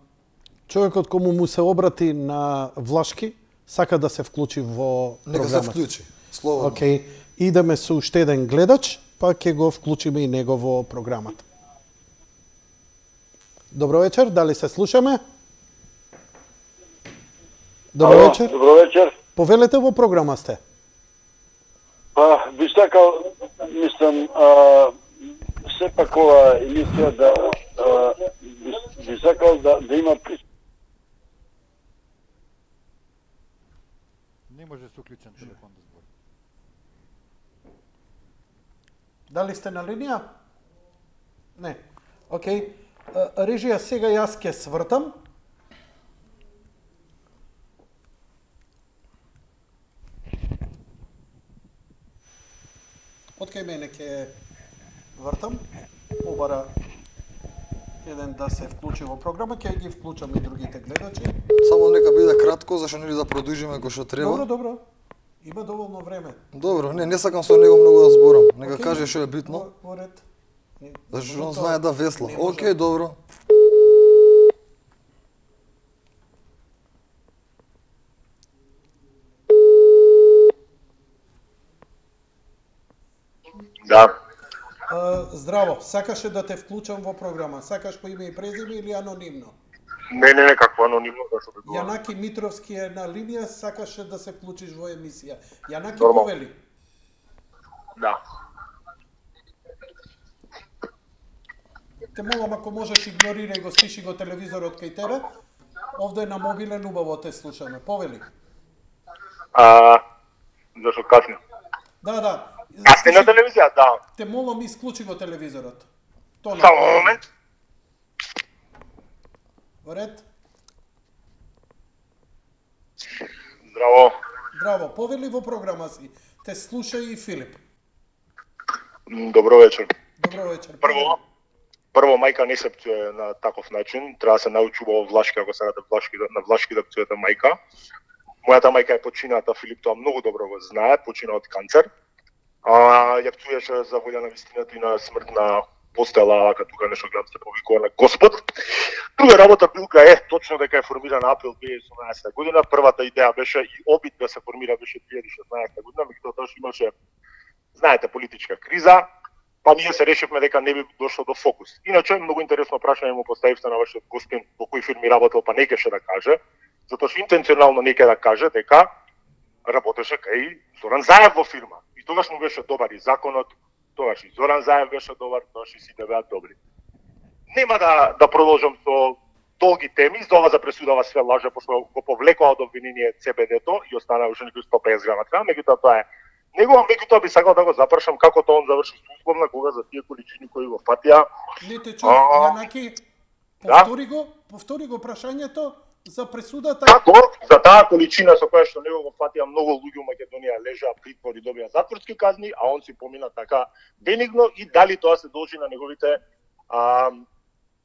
Човекот кому му се обрати на влашки, сака да се вклучи во програмата. Нека се вклучи, слободно. Океј. Okay. Идеме со уште еден гледач, па ќе го вклучиме и него во програмата. Добро вечер, дали се слушаме? Добро Ало, вечер. Добро вечер. Повелете, во програма сте. Па, би сакал, мислам, а, сепак ова емисија да а, би, би сакал да, да има при... Не може со уклучен телефон да збори. Дали сте на линија? Не. Океј. Режија, сега јас ќе свртам. Од кај мене ќе вртам. Обара еден да се вклучи во програма, ќе ги вклучам и другите гледачи. Само нека биде кратко, зашто нели да продолжиме кој што треба. Добро, добро. Има доволно време. Добро, не, не сакам со него многу да зборам. Нека okay. каже што е битно. Во, во ред. Зашто он знае да весла. Океј, добро. Да. А, здраво, сакаше да те вклучам во програма. Сакаш по име и презиме или анонимно? Не, не, не, какво анонимно, зашто би било? Јанаки Митровски е на линија, сакаше да се вклучиш во емисија. Јанаки, Нормал. повели. Да. Те молам, ако можеш, игнорирај го, стиши го телевизорот кај тебе. Овде на мобилен убаво те слушаме. Повели. А, зашто касни? Да, да. А сте на телевизија, да. Те молам, исклучи го телевизорот. Тоа Само момент. Во ред. Здраво. Здраво, повели во програма си. Те слуша и Филип. М, Добро вечер. Добро вечер. Прво, прво мајка не се пцуе на таков начин, треба да се научува од влашки, ако сакате влашки на влашки да пцуете мајка. Мојата мајка е почината, Филип тоа многу добро го знае, почина од канцер. А ја пцуеше за волја на вистината и на смрт на постела, ака тука нешто гледам се повикува на Господ. Друга работа билка е точно дека е формирана април две илјади и седнаесетта година. Првата идеја беше и обид да се формира беше две илјади и шеснаесетта година, меѓутоа тоа што имаше, знаете, политичка криза, па ние се решивме дека не би дошло до фокус. Иначе многу интересно прашање му поставивте на вашиот гостин во кој фирми работел, па не кеше да каже, затоа што интенционално не ке да каже дека работеше кај Зоран Заев во фирма. И тогаш му беше добар и законот, тогаш и Зоран Заев беше добар, тогаш и сите беа добри. Нема да да продолжам со долги теми, за ова за пресудава све лаже, пошто го повлекоа од обвинение Ц Б Д-то и остана уште некои сто и песет грама треба, меѓутоа тоа е Него меѓутоа би сакал да го запрашам како тоа он заврши условна кога за тие количини кои го фатија. Не те чув, Јанаки, повтори го, повтори го прашањето за пресудата. Како за таа количина со која што него го фатија многу луѓе у Македонија лежаа притвор и добија затворски казни, а он си помина така бенигно, и дали тоа се должи на неговите а,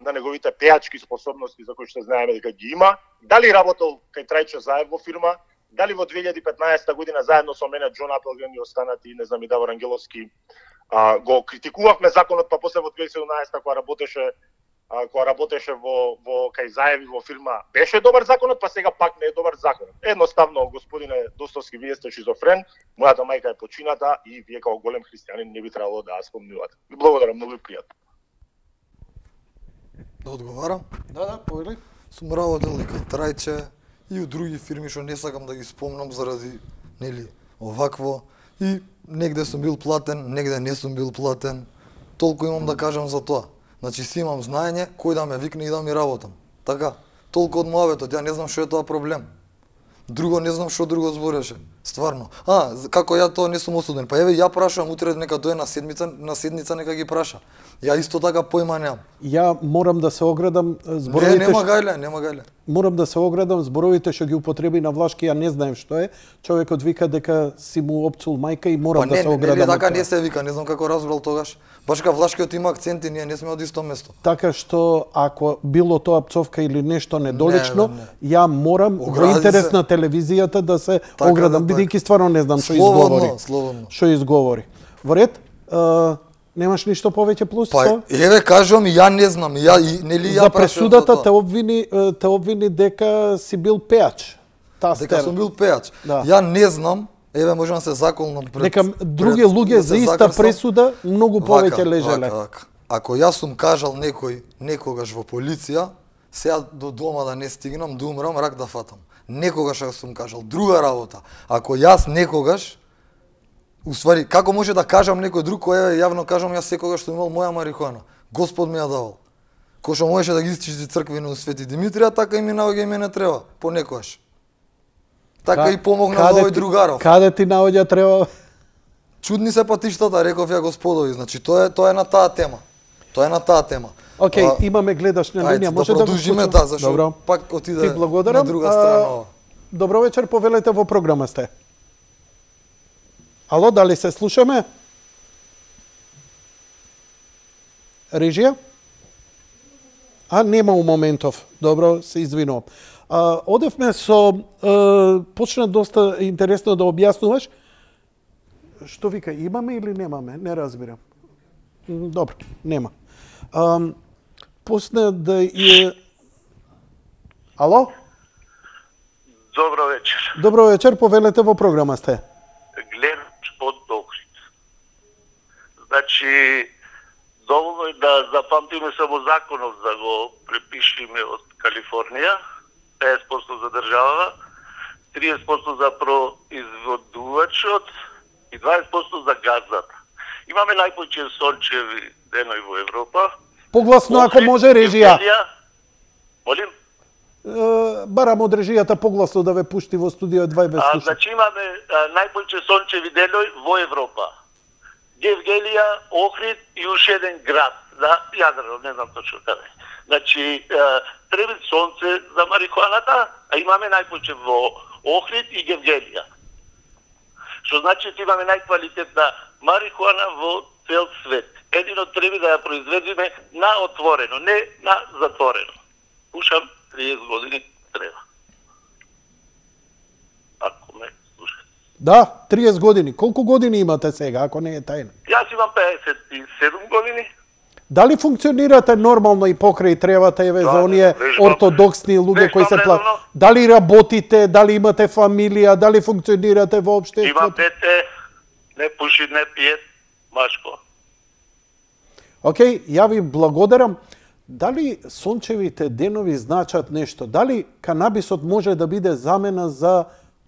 на неговите пејачки способности за кои што знаеме дека ги има, дали работел кај Трајчо Заев во фирма, дали во две илјади и петнаесета година заедно со мене Џон Апелген и останати, не знам, и Давор Ангеловски, а, го критикувавме законот, па после во две илјади и седумнаесета кога работеше а, кога работеше во во кај Заеви во фирма, беше добар законот, па сега пак не е добар законот. Едноставно, господине Достовски, вие сте шизофрен, мојата мајка е почината и вие како голем христијанин не би требало да ја спомнувате. Ви благодарам, многу и пријатно. Да одговарам? Да, да, повели. Сум работел и кај Трајче и у други фирми што не сакам да ги спомнам заради нели овакво, и негде сум бил платен, негде не сум бил платен. Толку имам да кажам за тоа. Значи си имам знаење кој да ме викне и да ми работам. Така, толку од мојавето, ја не знам што е тоа проблем. Друго не знам што друго збореше. Стварно. А, како ја тоа не сум осуден. Па еве ја прашувам утре нека дое на седмица, на седница нека ги праша. Ја исто така појма немам. Ја морам да се оградам Не, зборовите. нема ш- гајле, нема гајле. Морам да се оградам зборовите што ги употреби на Влашки, ја не знаем што е. Човекот вика дека си му опцул мајка и морам Па да не, се не, оградам. не, од така тоа. не се вика, не знам како разбрал тогаш. Баш ка Влашкиот има акценти, ние не сме од исто место. Така што ако било тоа пцовка или нешто недолично, Не, не, ја морам во Огради интерес се. на телевизијата да се Така, оградам, да, бидејќи стварно не знам што Слободно, изговори. слободно. Што изговори. Во ред, а, немаш ништо повеќе плюс Па тоа? еве кажувам, ја не знам, ја и нели ја За прашувам пресудата за те тоа. обвини е, те обвини дека си бил пејач. Тастер. Дека сум бил пејач. Да. Ја не знам, еве можам да се заколнам пред. Дека други пред- луѓе да за се иста закрсам. пресуда многу повеќе Вака, лежеле. Вака, вака. Ако јас сум кажал некој некогаш во полиција, сега до дома да не стигнам, да умрам, рак да фатам. Некогаш ја сум кажал. Друга работа. Ако јас некогаш, уствари, како може да кажам некој друг кој е јавно кажам јас секогаш сум имал моја марихуана. Господ ми ја давал. Кој што можеше да ги истичи црквина у Свети Димитрија, така и ми наоѓа и мене треба, понекогаш. Така и помогна за овој ти- другаров. Каде ти наоѓа треба? Чудни се патиштата, реков ја господови. Значи тоа е тоа е на таа тема. Тоа е на таа тема. Окей, А, имаме гледаш на ајде, линија, да може да го продолжиме, вклучам? да, зашто Добро. пак отиде Ти благодарам. на друга А, страна ова. Добро вечер, повелете, во програма сте. Ало, дали се слушаме? Режија? А, нема у моментов. Добро, се извинувам. А, одевме со... А, почна доста интересно да објаснуваш. Што вика, имаме или немаме? Не разбирам. М, Добро, нема. А, после да е... Ало? Добро вечер. Добро вечер, повелете, во програма сте. Гледач од Охрид. Значи, доволно е да запамтиме само законов да го препишиме од Калифорнија, петдесет проценти за државава, триесет проценти за производувачот и дваесет проценти за газата. Имаме најповеќе сончеви денови во Европа. Погласно, ако Охрид, може, режија. Евгелија. Молим? Е, Барам од режијата погласно да ве пушти во студио два и без А, слуша. значи имаме а, најповеќе сончеви денови во Европа. Гевгелија, Охрид и уште еден град, да, Јадрано, не знам точно каде. Значи, а, треба сонце за марихуаната, а имаме најповеќе во Охрид и Гевгелија. Што значи че имаме најквалитетна марихуана во цел свет. Едино треба да ја произведеме на отворено, не на затворено. Пушам триесет години треба. Ако ме слушате. Да, триесет години. Колку години имате сега, ако не е тајна? Јас имам педесет и седум години. Дали функционирате нормално и покрај тревата, еве, Да, за оние вежбам. ортодоксни луѓе кои се Вежбам плат? редовно. Дали работите, дали имате фамилија, дали функционирате во Имам општеството? дете, не пуши, не пие, машко. Океј, ја ви благодарам. Дали сончевите денови значат нешто? Дали канабисот може да биде замена за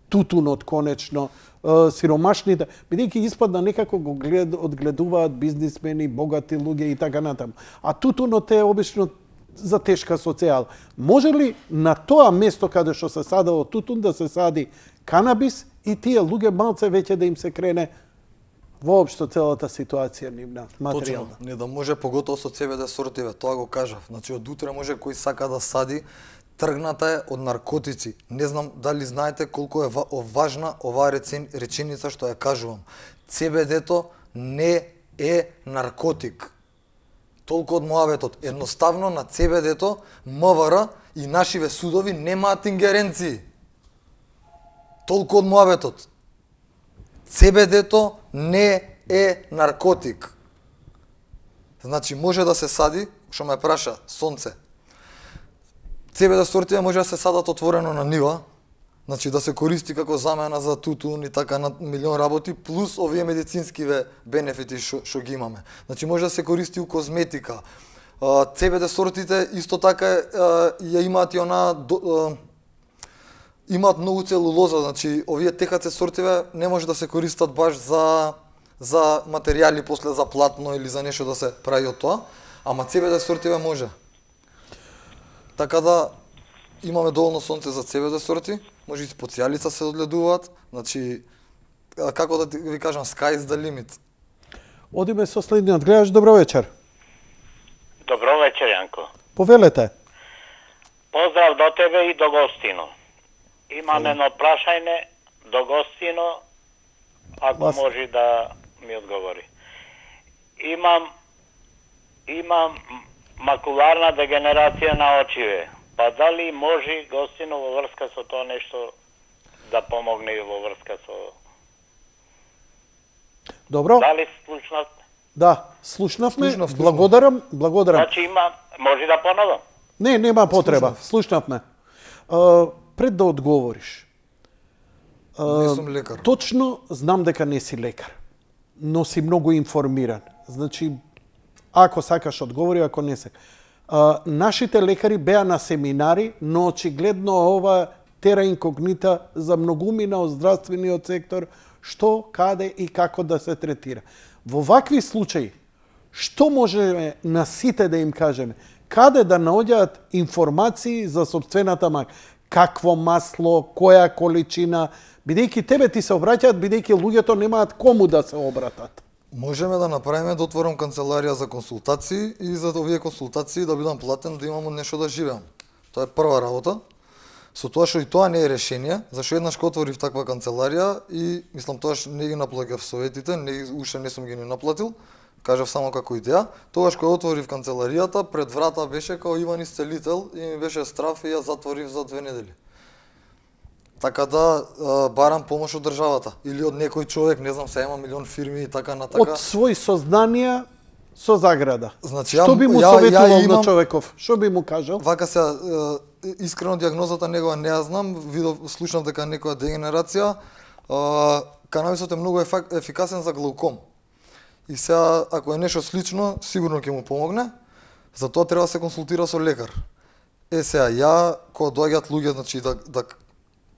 тутунот конечно? Е, сиромашните, бидејќи испадна некако го глед, одгледуваат бизнисмени, богати луѓе и така натаму. А тутунот е обично за тешка социјала. Може ли на тоа место каде што се садало тутун да се сади канабис и тие луѓе малце веќе да им се крене воопшто целата ситуација нивна, Точно, материјална. не да може поготово со це бе де сортиве, тоа го кажав. Значи од утре може кој сака да сади, тргната е од наркотици. Не знам дали знаете колку е важна оваа реченица што ја кажувам. це бе де-то не е наркотик. Толку од муаветот. Едноставно на це бе де-то ем ве ер и нашиве судови немаат ингеренции. Толку од муаветот. це бе де-то не е наркотик. Значи може да се сади, што ме праша, сонце. це бе де сортиве може да се садат отворено на нива, значи да се користи како замена за тутун и така на милион работи, плюс овие медицинскиве бенефити што што ги имаме. Значи може да се користи у козметика. це бе де сортите исто така ја имаат и она до, имаат многу целулоза, значи овие те ха це сортиве не може да се користат баш за за материјали после за платно или за нешто да се прави од тоа, ама це бе де сортиве може. Така да имаме доволно сонце за це бе де сорти, може и специјалица се одгледуваат, значи како да ви кажам, sky is the limit. Одиме со следниот гледач, добро вечер. Добро вечер, Јанко. Повелете. Поздрав до тебе и до гостино. Имам едно прашање до гостино, ако Вас... може да ми одговори. Имам имам макуларна дегенерација на очиве. Па дали може гостино во врска со тоа нешто да помогне во врска со... Добро. Дали слушнав? Да, слушнавме. Слушнав, слушнав. Благодарам, благодарам. Значи има, може да поновам? Не, нема потреба. Слушнавме. Uh, пред да одговориш. Uh, Не сум лекар. Точно знам дека не си лекар, но си многу информиран. Значи, ако сакаш одговори, ако не сакаш. Uh, нашите лекари беа на семинари, но очигледно ова тера инкогнита за многумина од здравствениот сектор, што, каде и како да се третира. Во вакви случаи, што можеме на сите да им кажеме? Каде да наоѓаат информации за собствената мака? Какво масло, која количина, бидејќи тебе ти се обраќаат, бидејќи луѓето немаат кому да се обратат. Можеме да направиме да отворам канцеларија за консултации и за овие консултации да бидам платен да имам нешто да живеам. Тоа е прва работа. Со тоа што и тоа не е решение, зашто еднаш кога отворив таква канцеларија и мислам тоаш не ги наплаќав советите, не уште не сум ги ни наплатил, кажав само како идеја. Тогаш кога отворив канцеларијата, пред врата беше као Иван Исцелител и ми беше страф и ја затворив за две недели. Така да барам помош од државата или од некој човек, не знам, се има милион фирми и така натака. Од свој сознанија со заграда. Значи, што ја, би му ја, советувал ја имам, на човеков? Што би му кажал? Вака се искрено дијагнозата негова не ја знам, видов, слушнав дека некоја дегенерација. Канабисот е многу ефикасен за глауком. И сега, ако е нешто слично, сигурно ќе му помогне. Затоа треба да се консултира со лекар. Е сега, ја, кога доаѓаат луѓе, значи да, да,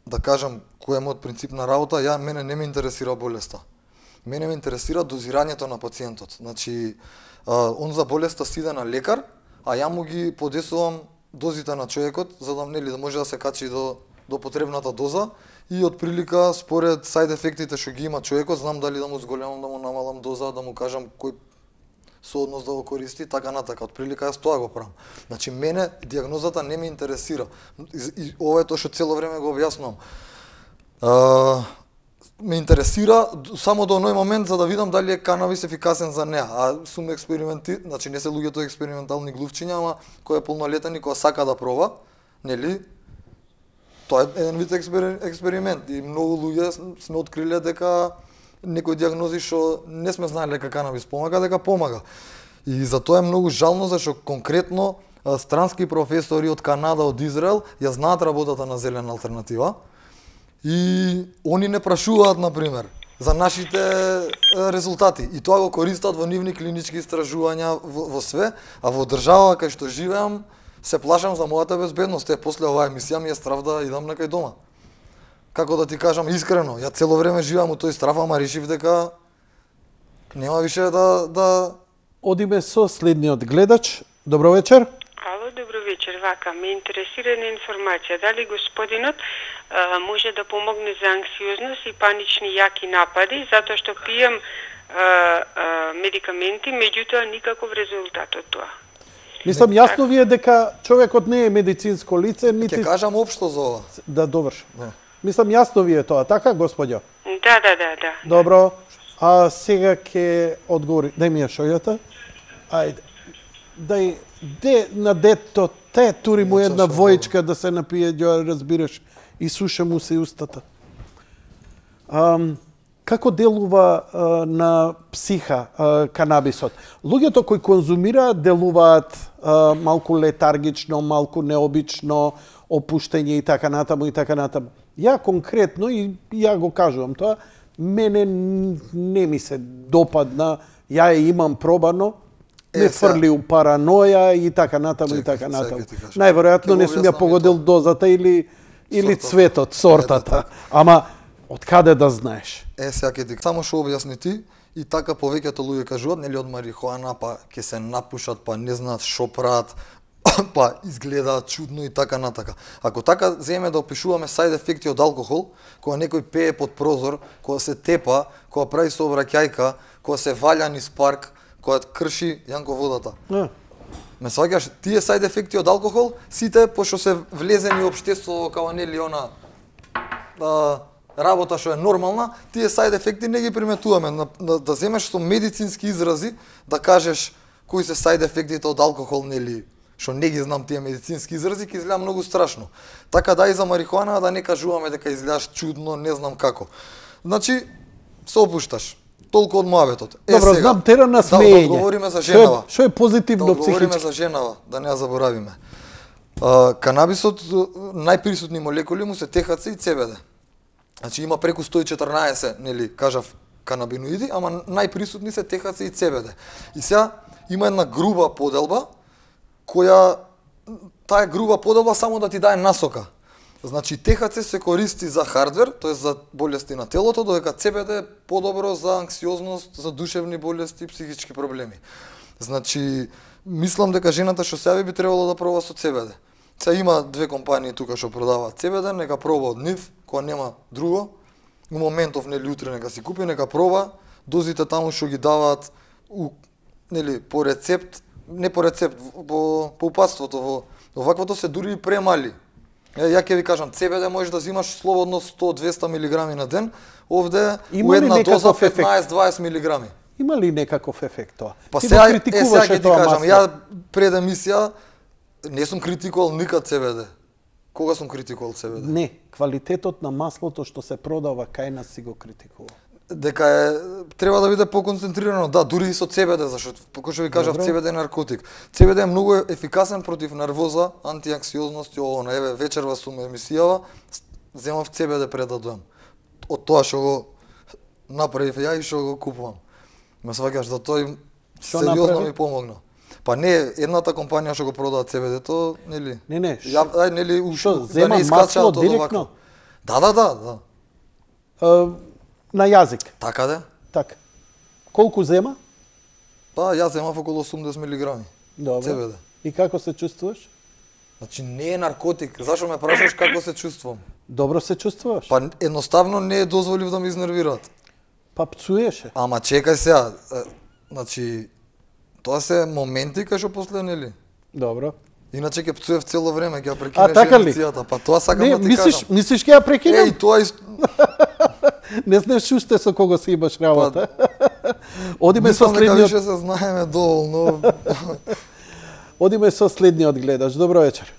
да кажам кој е мојот принцип на работа, ја мене не ме интересира болеста. Мене ме интересира дозирањето на пациентот. Значи, а, он за болеста си иде на лекар, а ја му ги подесувам дозите на човекот, за да нели да може да се качи до до потребната доза и од прилика според сајд ефектите што ги има човекот, знам дали да му зголемам, да му намалам доза, да му кажам кој сооднос да го користи, така натака. Од прилика јас тоа го правам. Значи мене дијагнозата не ме интересира. И, и ова е тоа што цело време го објаснувам. А, ме интересира само до оној момент за да видам дали е канабис ефикасен за неа. А сум експерименти, значи не се луѓето експериментални глувчиња, ама кој е полнолетен и кој сака да проба, нели? Тоа е еден вид експеримент и многу луѓе сме откриле дека некои дијагнози што не сме знаеле дека канабис помага, дека помага. И затоа е многу жално зашто конкретно странски професори од Канада, од Израел ја знаат работата на зелена алтернатива. И они не прашуваат, например, за нашите резултати. И тоа го користат во нивни клинички истражувања во, во све, а во држава кај што живеам, се плашам за мојата безбедност. Е, после оваа емисија ми е страв да идам некај дома. Како да ти кажам искрено, ја цело време живеам у тој страф, ама решив дека нема више да... да... Одиме со следниот гледач. Добро вечер. Ало, добро вечер. Вака, ме интересира една информација. Дали господинот а, може да помогне за анксиозност и панични јаки напади, затоа што пијам а, медикаменти, меѓутоа никаков резултат од тоа. Мислам, јасно ви е дека човекот не е медицинско лице, нити... Ќе кажам општо за ова. Да, доврши. Да. Мислам, јасно ви е тоа, така, господјо? Да, да, да, да. Добро, а сега ќе одговори. Дај ми ја шојата. Ајде. Дај, де на дето, те тури му една војчка да се напие, ја разбираш, и суша му се устата. Ам, како делува а, на психа а, канабисот? Луѓето кои конзумираат делуваат а, малку летаргично, малку необично, опуштење и така натаму и така натаму. Ја конкретно, и ја го кажувам тоа, мене не ми се допадна, ја ја имам пробано, ме фрли у параноја и така натаму и така натаму. Најверојатно не сум ја погодил дозата или или цветот, сортата. Ама од каде да знаеш? Е, сега ќе ти само што објасни ти, и така повеќето луѓе кажуваат, нели од марихуана, па ќе се напушат, па не знаат што прават, па изгледаат чудно и така натака. Ако така земе да опишуваме сајд ефекти од алкохол, кога некој пее под прозор, кога се тепа, кога прави сообраќајка, кога се валја низ парк, кога крши Јанко водата. А. Ме сваќаш, тие сајд ефекти од алкохол, сите пошто се влезени општеството као нели она а, работа што е нормална, тие сајд ефекти не ги приметуваме. На, на, да земеш со медицински изрази, да кажеш кои се сајд ефектите од алкохол, нели, што не ги знам тие медицински изрази, ќе изгледа многу страшно. Така да и за марихуана да не кажуваме дека изгледаш чудно, не знам како. Значи, се опушташ. Толку од моабетот. Е, Добро, сега, знам тера на смеење. Да, да одговориме за женава. Што е, е позитивно да психички? Да одговориме за женава, да не ја заборавиме. А, канабисот, најприсутни молекули му се Т Х Ц и Ц Б Д. Значи има преку сто и четрнаесет, нели, кажав, канабиноиди, ама најприсутни се Т Х Ц и Ц Б Д. И сега има една груба поделба, која, таа груба поделба само да ти даде насока. Значи, Т Х Ц се користи за хардвер, тоа е за болести на телото, додека Ц Б Д е подобро за анксиозност, за душевни болести и психички проблеми. Значи, мислам дека жената што сега би требало да проба со Ц Б Д. Сега има две компании тука што продаваат Ц Б Д, нека проба од нив, кога нема друго. У моментов, нели, утре нека си купи, нека проба. Дозите таму што ги даваат, у, нели, по рецепт, не по рецепт, по, по упатството, во оваквото се дури и премали. Е, ја ќе ви кажам, Ц Б Д можеш да взимаш слободно сто до двесте милиграми на ден, овде у една доза петнаесет до дваесет милиграми. Има ли некаков ефект тоа? Па сега, е, сега ќе ти кажам, ја пред емисија не сум критикувал никад Ц Б Д. Кога сум критикувал Ц Б Д? Не, квалитетот на маслото што се продава кај нас си го критикувал. Дека е, треба да биде поконцентрирано, да, дури и со Ц Б Д, зашто како што ви кажав, Ц Б Д е наркотик. Ц Б Д е многу ефикасен против нервоза, антианксиозност и ово. Еве, вечерва сум емисијава, земав Ц Б Д пред да дојам. Од тоа што го направив ја и што го купувам. Ме сваќаш, да тој сериозно ми помогна. Па не, едната компанија што го продава Ц Б Д-то, нели? Не, не. Ја, ај, нели, ушо, да не искачаат од овако. Да, да, да, да. Uh, на јазик. Така да? Така. Колку зема? Па, јас земав околу осумдесет милиграми. Добро. Ц Б Д. И како се чувствуваш? Значи не е наркотик. Зашо ме прашаш како се чувствувам? Добро се чувствуваш? Па едноставно не е дозволив да ме изнервираат. Па пцуеше. Ама чекај сега, значи тоа се моменти кај што после, нели? Добро. Иначе ќе пцуев цело време, ќе ја прекинеш а, така емисијата. Па тоа сакам не, да ти мислиш, кажам. Мислиш ќе ја прекинем? Еј, тоа is... Не знаеш уште со кого си имаш работа. Па, одиме со следниот. Мислам дека више се знаеме доволно. Одиме со следниот гледач. Добро вечер.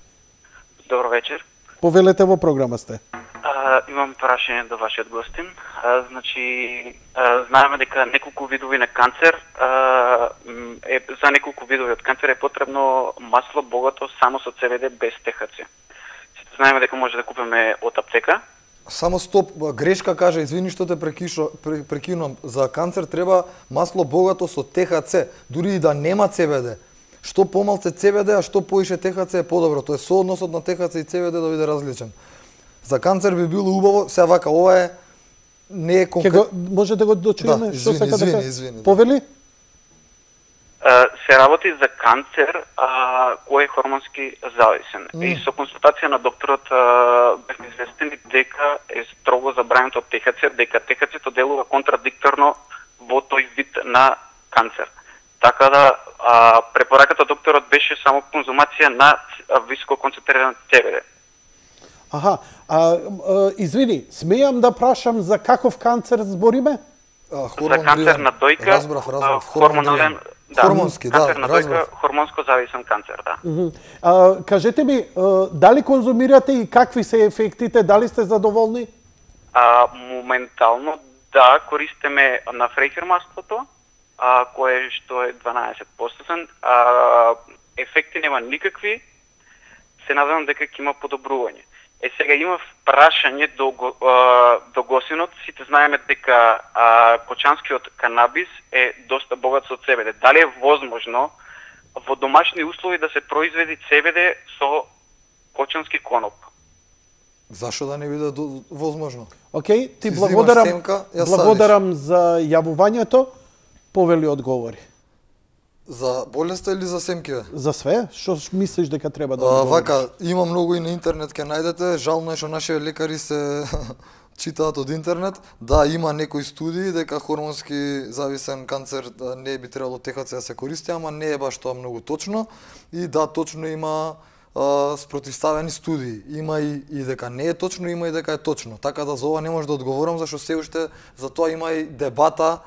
Добро вечер. Повелете, во програма сте. А, имам прашање до вашиот гостин. А, значи, а, знаеме дека неколку видови на канцер, а, е, за неколку видови од канцер е потребно масло богато само со Ц Б Д без Т Х Ц. Сите знаеме дека може да купиме од аптека. Само стоп, грешка кажа, извини што те прекишо, прекинувам. За канцер треба масло богато со Т Х Ц, дури и да нема Ц Б Д. Што помалце Ц Б Д, а што поише Т Х Ц е подобро. Тоа е соодносот на Т Х Ц и Ц Б Д да биде различен. За канцер би било убаво, сега вака, ова е не е конкретно. Може да го дочуеме да, што сака извини, да извини, повели? Uh, се работи за канцер uh, кој е хормонски зависен. Mm. И со консултација на докторот uh, бевме известени дека е строго забрането од Т Х Ц, дека Т Х Ц-то делува контрадикторно во тој вид на канцер. Така да а, препораката докторот беше само конзумација на високо концентриран Це Ве Де. Аха, а, а, извини, смејам да прашам за каков канцер збориме? А, За канцер на дојка, разбрав, разбрав, хормонален, да, хормонски, канцер да, на дојка, разбрав. хормонско зависен канцер, да. Мгм. А, кажете ми, а, дали конзумирате и какви се ефектите, дали сте задоволни? А, моментално да, користиме на фрейхер маслото, а, кое што е дванаесет проценти, а, ефекти нема никакви, се надевам дека ќе има подобрување. Е, сега има прашање до, го- а, до госинот, сите знаеме дека а, кочанскиот канабис е доста богат со Це Ве Де. Дали е возможно во домашни услови да се произведи Це Ве Де со кочански коноп? Зашо да не биде до- возможно? Океј, ти Си зимаш благодарам, семка, ја благодарам за јавувањето. Повели одговори. За болеста или за семкиве? За све? Што мислиш дека треба да А, одговориш? вака, има многу и на интернет ќе најдете, жално е што нашите лекари се читаат од интернет. Да, има некои студии дека хормонски зависен канцер да, не би требало Те Ха Це да се користи, ама не е баш тоа многу точно. И да, точно има а, спротивставени студии. Има и, и дека не е точно, има и дека е точно. Така да за ова не може да одговорам, зашто се уште за тоа има и дебата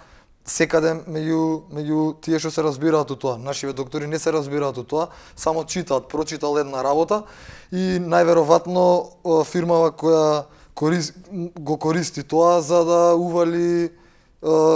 секаде меѓу меѓу тие што се разбираат од тоа. Нашиве доктори не се разбираат од тоа, само читаат, прочитал една работа и најверојатно о, фирмава која корис, го користи тоа за да ували е,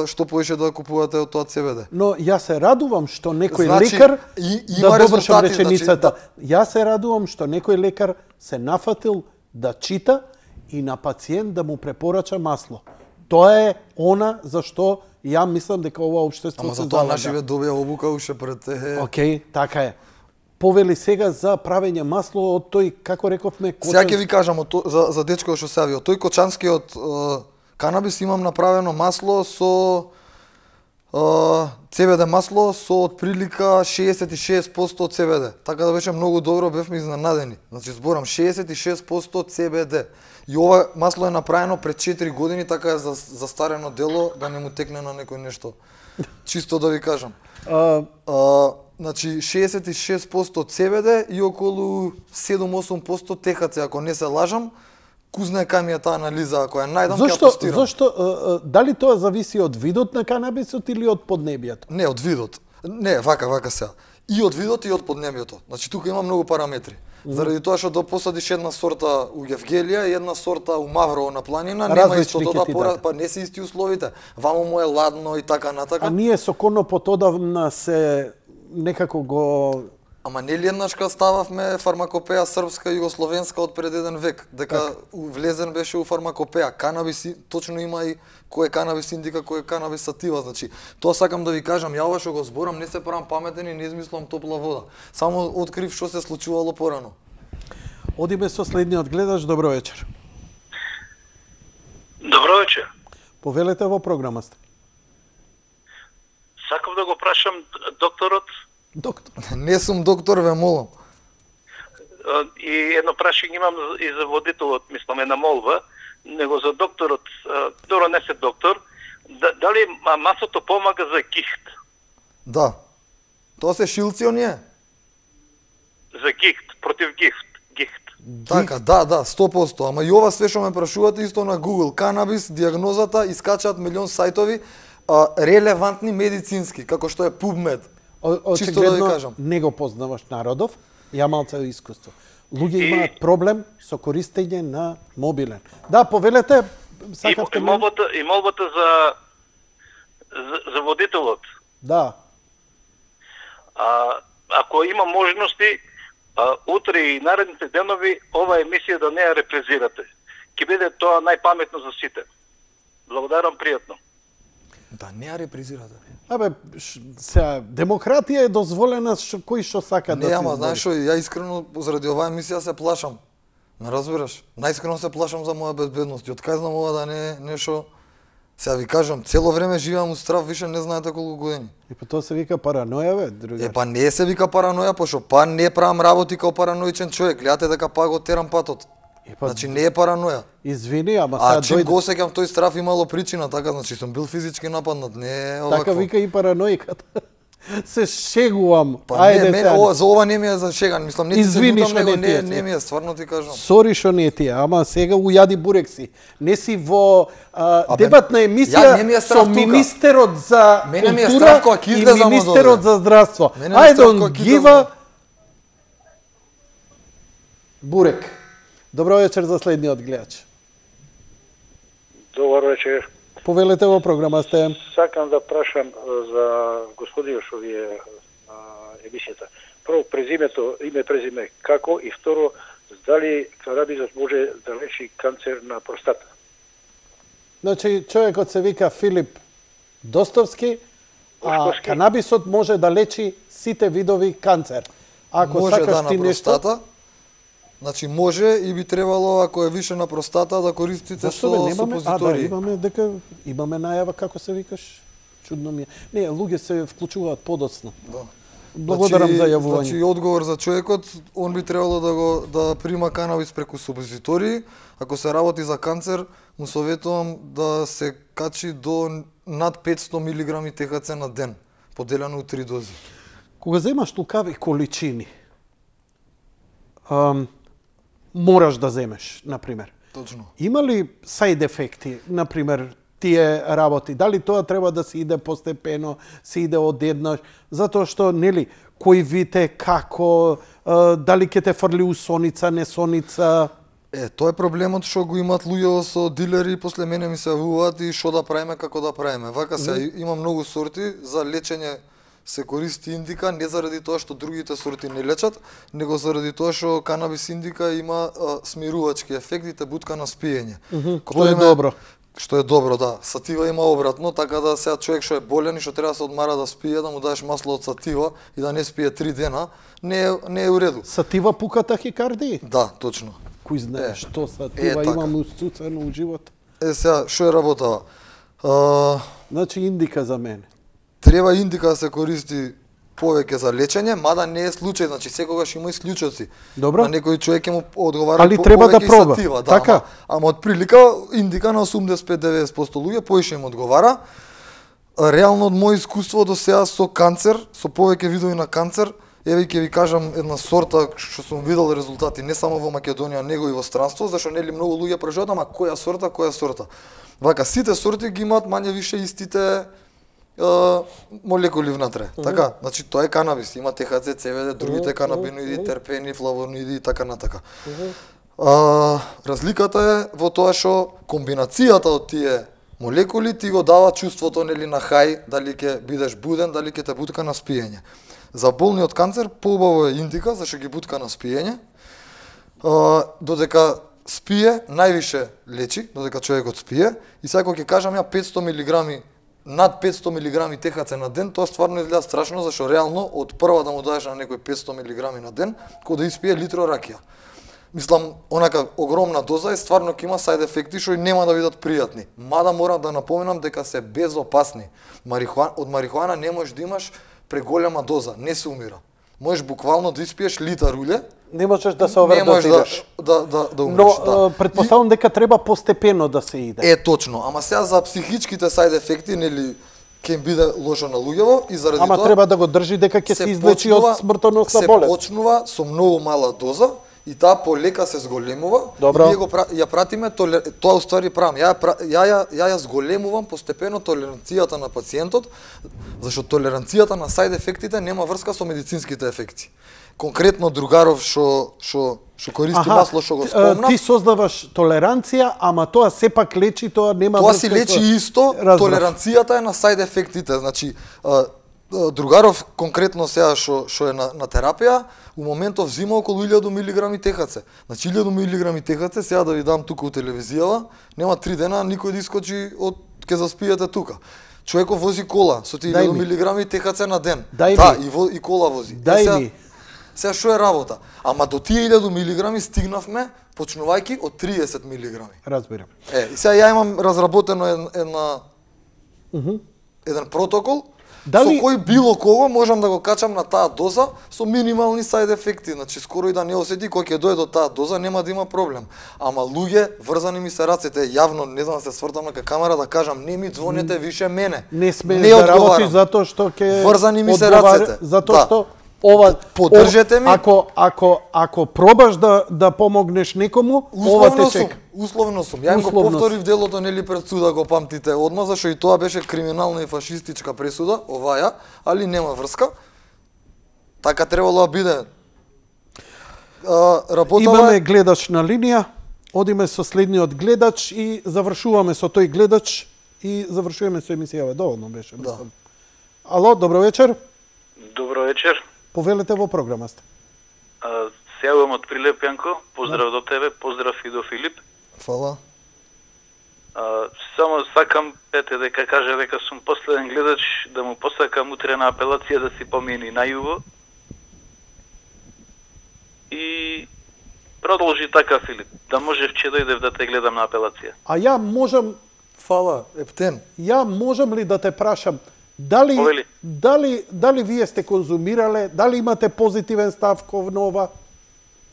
што повеќе да купувате од тоа Це Ве Де. Но јас се радувам што некој Значи, лекар, и- има да довршам резултати, реченицата, значи, јас се радувам што некој лекар се нафатил да чита и на пациент да му препорача масло. Тоа е она за што ја мислам дека ова општество Ама се за тоа залага. нашиве добија обука уште пред е. Океј, така е. Повели сега за правење масло од тој, како рековме, Сега ќе ви кажам од то, за за дечкото што се јави. Од тој кочанскиот е, канабис имам направено масло со е, Це Ве Де масло со отприлика шеесет и шест проценти Це Ве Де. Така да беше многу добро, бевме изненадени. Значи зборам шеесет и шест проценти Це Ве Де. И ова масло е направено пред четири години, така е за застарено дело да не му текне на некој нешто. Чисто да ви кажам. А, А, значи шеесет и шест проценти Це Ве Де и околу седум до осум проценти Те Ха Це, ако не се лажам. Кузна е кај ми е таа анализа, ако ја најдам ќе ја Зошто, тестирам. зошто, а, а, дали тоа зависи од видот на канабисот или од поднебието? Не, од видот. Не, вака, вака сега. И од видот и од поднебието. Значи тука има многу параметри. Заради тоа што да посадиш една сорта у Евгелија и една сорта у Маврово на планина, нема Различни истото ќе да ти пора, дадат. па не се исти условите. Вамо му е ладно и така натака. А ние со конопот одавна се некако го... Ама нели еднашка стававме фармакопеја српска и југословенска од пред еден век, дека влезен беше у фармакопеја. Канабис и- точно има и кој е канабис индика, кој е канабис сатива, значи тоа сакам да ви кажам, ја ова што го зборам не се правам паметен и не измислам топла вода. Само открив што се случувало порано. Одиме со следниот гледач, добро вечер. Добро вечер. Повелете во програма сте. Сакам да го прашам докторот Доктор. Не сум доктор, ве молам. а, и едно прашање имам и за водителот, мислам една молба, него за докторот, а, добро не се доктор, да, дали ма- маслото помага за кихт? Да. Тоа се шилци оние? За гихт, против гихт, гихт. Така, да, да, сто проценти. Ама и ова све што ме прашувате исто на Google, канабис, диагнозата, искачаат милион сајтови, а, релевантни медицински, како што е PubMed. О- Чисто да ви Очигледно кажам. не го познаваш народов, ја малце искуство. Луѓе И- имаат проблем со користење на мобилен. Да, повелете, И, сакавте и ме- молбата, и молбата за, за, за водителот. Да. А, ако има можности, а, утре и наредните денови ова емисија да не ја репрезирате. Ќе биде тоа најпаметно за сите. Благодарам, пријатно. Да, не ја репризирате. Абе, ш- сега, демократија е дозволена што кој што сака да Не, се ама избори. знаеш што, ја искрено заради оваа емисија се плашам. Ме разбираш? Најискрено се плашам за моја безбедност. И од кај знам ова да не е нешто. Сега ви кажам, цело време живеам у страв, више не знаете колку години. И по тоа се вика параноја, бе, друга. Е, па не се вика параноја, пошто па не правам работи као параноичен човек. Гледате дека па го терам патот. па- Значи не е параноја. Извини, ама А сега чим дојде. го осеќам тој страв имало причина, така, значи сум бил физички нападнат, не е овакво. Така вика и параноиката. Се шегувам. Па Ајде не, мене, сега. ова, за ова не ми е за шеган, мислам, не ти се Извини лутам, што него не ти не, е. не ми е, стварно ти кажам. Сори што не ти е, ама сега ујади бурек си. Не си во а, Абе, дебатна ја емисија не ми е со страв тука. министерот за Мене ми е култура страв кога ќе и излезам од министерот овде. за здравство. Мене ми е I страв don't кога ќе give излезам. a бурек. Добро вечер за следниот гледач. Добар вечер. Повелете во програма сте. Сакам да прашам е, за господинот што ви е на емисијата. Прво презимето, име презиме како и второ дали канабисот може да лечи канцер на простата. Значи, човекот се вика Филип Достовски, а Достовски. канабисот може да лечи сите видови канцер. Ако Може сакаш да на ти нешто, простата. Значи може и би требало ако е више на простата да користите зашто бе, со немаме? А, да, супозитори. имаме дека имаме најава како се викаш. Чудно ми е. Не, луѓе се вклучуваат подоцна. Да. Благодарам значи, за јавување. Значи одговор за човекот, он би требало да го да прима канабис преку супозитори. Ако се работи за канцер, му советувам да се качи до над петсто милиграми Т Х Ц на ден, поделено у три дози. Кога земаш лукави количини, ам, мораш да земеш, например. Точно. Има ли сайд ефекти, например, тие работи? Дали тоа треба да се иде постепено, се иде одеднаш? Затоа што, нели, кој вите, како, а, дали ќе те фрли у соница, не соница? Е, тоа е проблемот што го имаат луѓето со дилери и после мене ми се јавуваат и што да правиме, како да правиме. Вака се, Мгм. има многу сорти, за лечење се користи индика, не заради тоа што другите сорти не лечат, него заради тоа што канабис индика има а, смирувачки ефект и те бутка на спиење. Мгм, Кога што е име- добро. Што е добро, да. Сатива има обратно, така да сега човек што е болен и што треба да се одмара да спие, да му дадеш масло од сатива и да не спие три дена, не е, не е уреду. Сатива пука тахикардии? Да, точно. Кој знае Е, што е, сатива така. имам устуцено у живот? Е, сега, што е работава? А, Значи индика за мене. треба индика да се користи повеќе за лечење, мада не е случај, значи секогаш има исклучоци. Добро. На некој човек ќе му одговара Али по- треба да повеќе и проба. сатива, да, Така? Ама, ама од прилика индика на осумдесет и пет до деведесет проценти луѓе поише им одговара. Реално од моје искуство до сега со канцер, со повеќе видови на канцер, еве ќе ви кажам една сорта што сум видел резултати не само во Македонија, него и во странство, зашто нели многу луѓе прашуваат, ама која сорта, која сорта. Вака сите сорти ги имаат мање више истите е, молекули внатре. Мгм. Така, значи тоа е канабис, има Т Х Ц, Ц В Д, другите Мгм, канабиноиди, мгм. терпени, флавоноиди и така натака. Мгм. А, разликата е во тоа што комбинацијата од тие молекули ти го дава чувството нели на хај, дали ќе бидеш буден, дали ќе те бутка на спиење. За болни од канцер поубаво е индика, зашто ги бутка на спиење. А, додека спие, највише лечи, додека човекот спие, и сега кога ќе кажам ја петсто милиграми, над петсто милиграми Т Х Ц на ден, тоа стварно изгледа страшно, зашто реално од прва да му дадеш на некој петсто милиграми на ден, кога да испие литро ракија. Мислам, онака огромна доза и стварно ќе има сайд ефекти што и нема да бидат пријатни. Мада морам да напоменам дека се безопасни. Марихуана, од марихуана не можеш да имаш преголема доза, не се умира. Можеш буквално да испиеш литар уле. Не можеш да се Не можеш овредотираш. да, да, да, да умреш. Но да. а, предпоставам дека треба постепено да се иде. Е, точно. Ама сега за психичките сайд ефекти, нели, ќе им биде лошо на луѓево и заради Ама тоа треба да го држи дека ќе се излечи од смртоносна се болест. почнува со многу мала доза и таа полека се зголемува. Добро. И ние го пра, ја пратиме толер, тоа уствари правам. Ја ја ја ја, ја, ја зголемувам постепено толеранцијата на пациентот, зашто толеранцијата на сайд ефектите нема врска со медицинските ефекти. Конкретно другаров што што што користи Аха, масло што го ти- спомнав. Ти создаваш толеранција, ама тоа сепак лечи, тоа нема Тоа врска си со- лечи исто, Разбрав. толеранцијата е на сайд ефектите. Значи, а, а, другаров конкретно сега што што е на, на терапија, у моментов взима околу илјаду милиграми Т Х Ц. Значи илјаду милиграми Т Х Ц, сега да ви дам тука у телевизијава, нема три дена никој да искочи од ке заспиете тука. Човеков вози кола со тие Дај илјаду ми. милиграми Т Х Ц на ден. Дај да, ми. и, во, и кола вози. Е, Дај сега- ми. Сега што е работа? Ама до тие илјаду милиграми стигнавме почнувајќи од триесет милиграми. Разбирам. Е, и сега ја имам разработено ед- една Мгм. еден протокол Дали... Со кој било кого можам да го качам на таа доза со минимални сајд ефекти, значи скоро и да не осети кој ќе дојде до таа доза нема да има проблем. Ама луѓе врзани ми се рацете, јавно не знам да се свртам на камера да кажам не ми звонете више мене. Не сме да работиш затоа што ќе врзани ми се рацете. Затоа да. што ова поддржете ми. Ако ако ако пробаш да да помогнеш некому, ова те чека. Условно сум. Ја им го повторив делото нели пред суда, го памтите одма, зашто и тоа беше криминална и фашистичка пресуда, оваја, али нема врска. Така требало да биде. А, работава... Имаме гледач на линија. Одиме со следниот гледач и завршуваме со тој гледач и завршуваме со емисијава. Доволно беше, мислам. Да. Ало, добро вечер. Добро вечер. Повелете во програма сте. Се јавувам од Прилеп, Јанко. Поздрав до тебе, поздрав и до Филип. Фала. А, само сакам, ете, дека каже дека сум последен гледач, да му посакам утре на апелација да си помени на југо. И продолжи така, Филип. Да можев че дојдев да те гледам на апелација. А ја можам... Фала, Ептен. Ја можам ли да те прашам, дали, Повели. дали, дали вие сте конзумирале, дали имате позитивен став кон ова?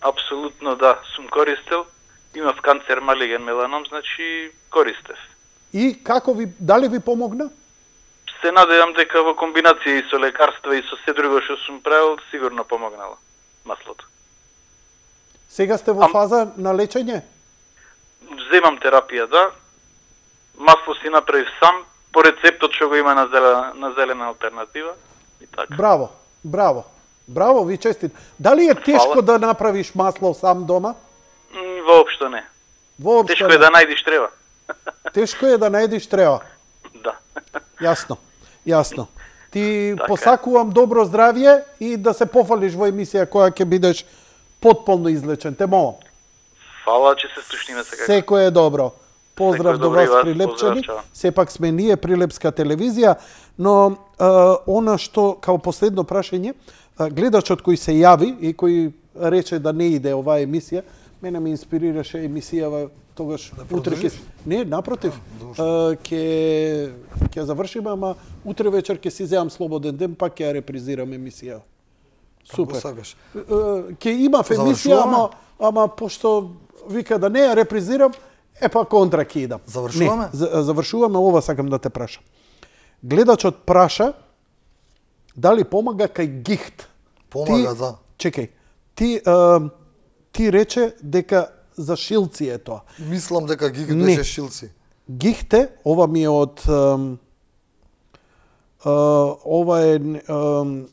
Апсолутно да, сум користел. Имав канцер малиген меланом, значи користев. И како ви, дали ви помогна? Се надевам дека во комбинација и со лекарства и со се друго што сум правил, сигурно помогнало маслото. Сега сте во Ам... фаза на лечење? Земам терапија, да. Масло си направив сам, по рецептот што го има на зелена, на зелена алтернатива. И така. Браво, браво. Браво, ви честит. Дали е тешко Фала. да направиш масло сам дома? Воопшто не. Воопшто Тешко не. е да најдиш треба. Тешко е да најдиш треба. Да. Јасно, јасно. Ти Така. посакувам добро здравје и да се пофалиш во емисија која ќе бидеш потполно излечен. Те молам. Фала, че се слушниме сега. Секој е добро. Поздрав Секој до добро и вас, вас. прилепчани. Поздрав, чао. Сепак сме ние Прилепска телевизија, но а, она што као последно прашање, а, гледачот кој се јави и кој рече да не иде оваа емисија, мене ме инспирираше емисијава тогаш да утре ќе не, напротив, а, ќе ќе завршиме, ама утре вечер ќе си земам слободен ден, пак ќе ја репризирам емисија. Супер. Ќе имав емисија, ама ама пошто вика да не ја репризирам, е па контра ќе идам. Завршуваме? Не, завршуваме, ова сакам да те прашам. Гледачот праша дали помага кај гихт. Помага, ти, да. Чекај, ти, а, ти рече дека за шилци е тоа. Мислам дека гихт Не. беше шилци. Гихте, ова ми е од... ам, а, ова е ам,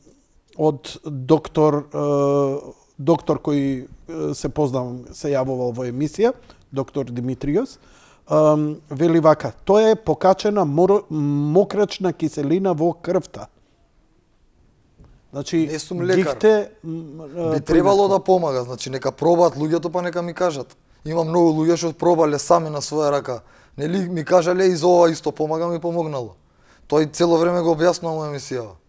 од доктор, а, доктор кој а, се познавам, се јавувал во емисија, доктор Димитриос, ам, вели вака, тоа е покачена мор, мокрачна киселина во крвта. Значи, Не сум лекар. гихте... Би требало да помага, значи нека пробаат луѓето па нека ми кажат. Има многу луѓе што пробале сами на своја рака. Нели ми кажале и за ова исто помага, ми помогнало. Тој цело време го објаснува во емисијава.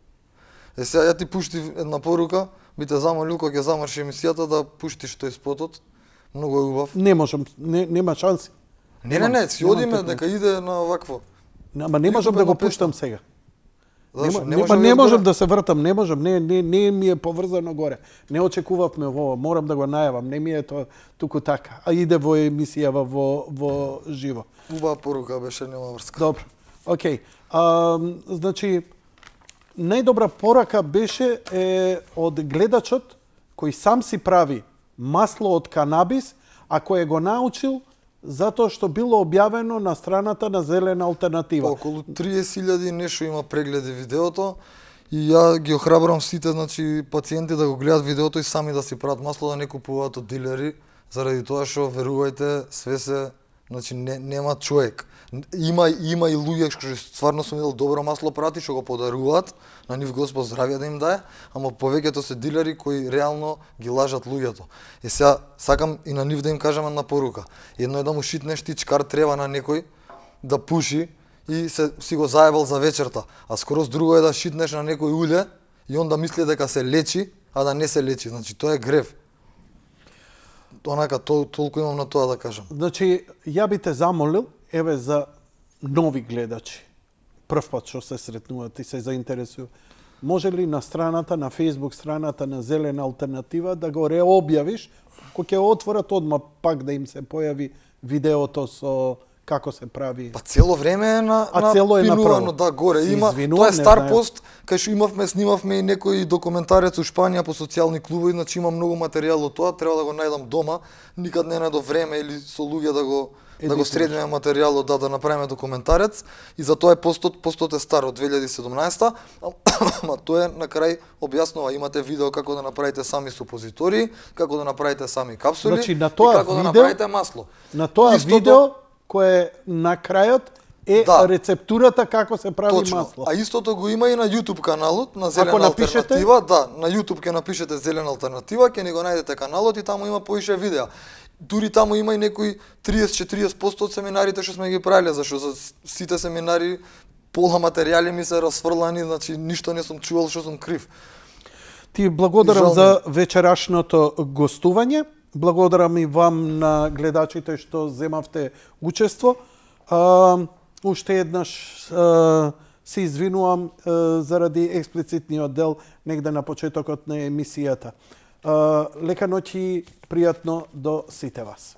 Е сега ја ти пуштив една порука, би те замолил кога ќе замрши емисијата да пуштиш тој спотот. Многу е убав. Не можам, не, нема шанси. Не, не, не, си одиме дека иде на вакво. Ама не можам да го пуштам сега. Зашо? Не, Не не, може не да можам одгора? да се вртам, не можам, не, не, не ми е поврзано горе. Не очекувавме во ова, морам да го најавам, не ми е тоа туку така. А иде во емисијава во, во живо. Убава порука беше, нема врска. Добро, окей. А, значи, најдобра порака беше е, од гледачот кој сам си прави масло од канабис, а кој го научил затоа што било објавено на страната на Зелена алтернатива. Околу триесет илјади нешто има прегледи видеото и ја ги охрабрам сите, значи пациенти да го гледат видеото и сами да си прават масло, да не купуваат од дилери, заради тоа што верувајте, све се, значи не, нема човек. Има има и луѓе што стварно сум видел добро масло прати што го подаруваат, на нив Господ здравје да им дае, ама повеќето се дилери кои реално ги лажат луѓето. И сега сакам и на нив да им кажам една порука. Едно е да му шитнеш ти чкар трева на некој да пуши и се си го заебал за вечерта, а скороз друго е да шитнеш на некој уле и он да мисли дека се лечи, а да не се лечи. Значи тоа е грев. Онака тол, толку имам на тоа да кажам. Значи, ја би те замолил, еве за нови гледачи. прв пат што се сретнуваат и се заинтересуваат. Може ли на страната, на Facebook страната на Зелена алтернатива да го реобјавиш, кога ќе отворат одма пак да им се појави видеото со како се прави. Па цело време е на, а на цело е пинувано, да, горе. Си Има, извинувам, тоа е стар знаем. пост, кај што имавме, снимавме и некој документарец у Шпанија по социјални клубови, значи има многу материјал од тоа, треба да го најдам дома, никад не најдов време или со луѓе да го Едитор. да го средиме материјалот, да, да направиме документарец, и за тоа е постот, постот е стар од две илјади и седумнаесета, ама тоа е на крај објаснува, имате видео како да направите сами супозитори, како да направите сами капсули, значи, на и тоа како видео, да направите масло. На тоа Истото, видео кој на крајот е да, рецептурата како се прави точно. масло. А истото го има и на YouTube каналот на Зелена Ако напишете... алтернатива, да, на YouTube ќе напишете Зелена алтернатива, ќе ни го најдете каналот и таму има поише видеа. Дури таму има и некои триесет-четириесет проценти од семинарите што сме ги правиле, зашто за сите семинари пола материјали ми се расфрлани, значи ништо не сум чувал што сум крив. Ти благодарам за вечерашното гостување. Благодарам и вам на гледачите што земавте учество. А, уште еднаш а, се извинувам а, заради експлицитниот дел негде на почетокот на емисијата. А, лека ноќ и пријатно до сите вас.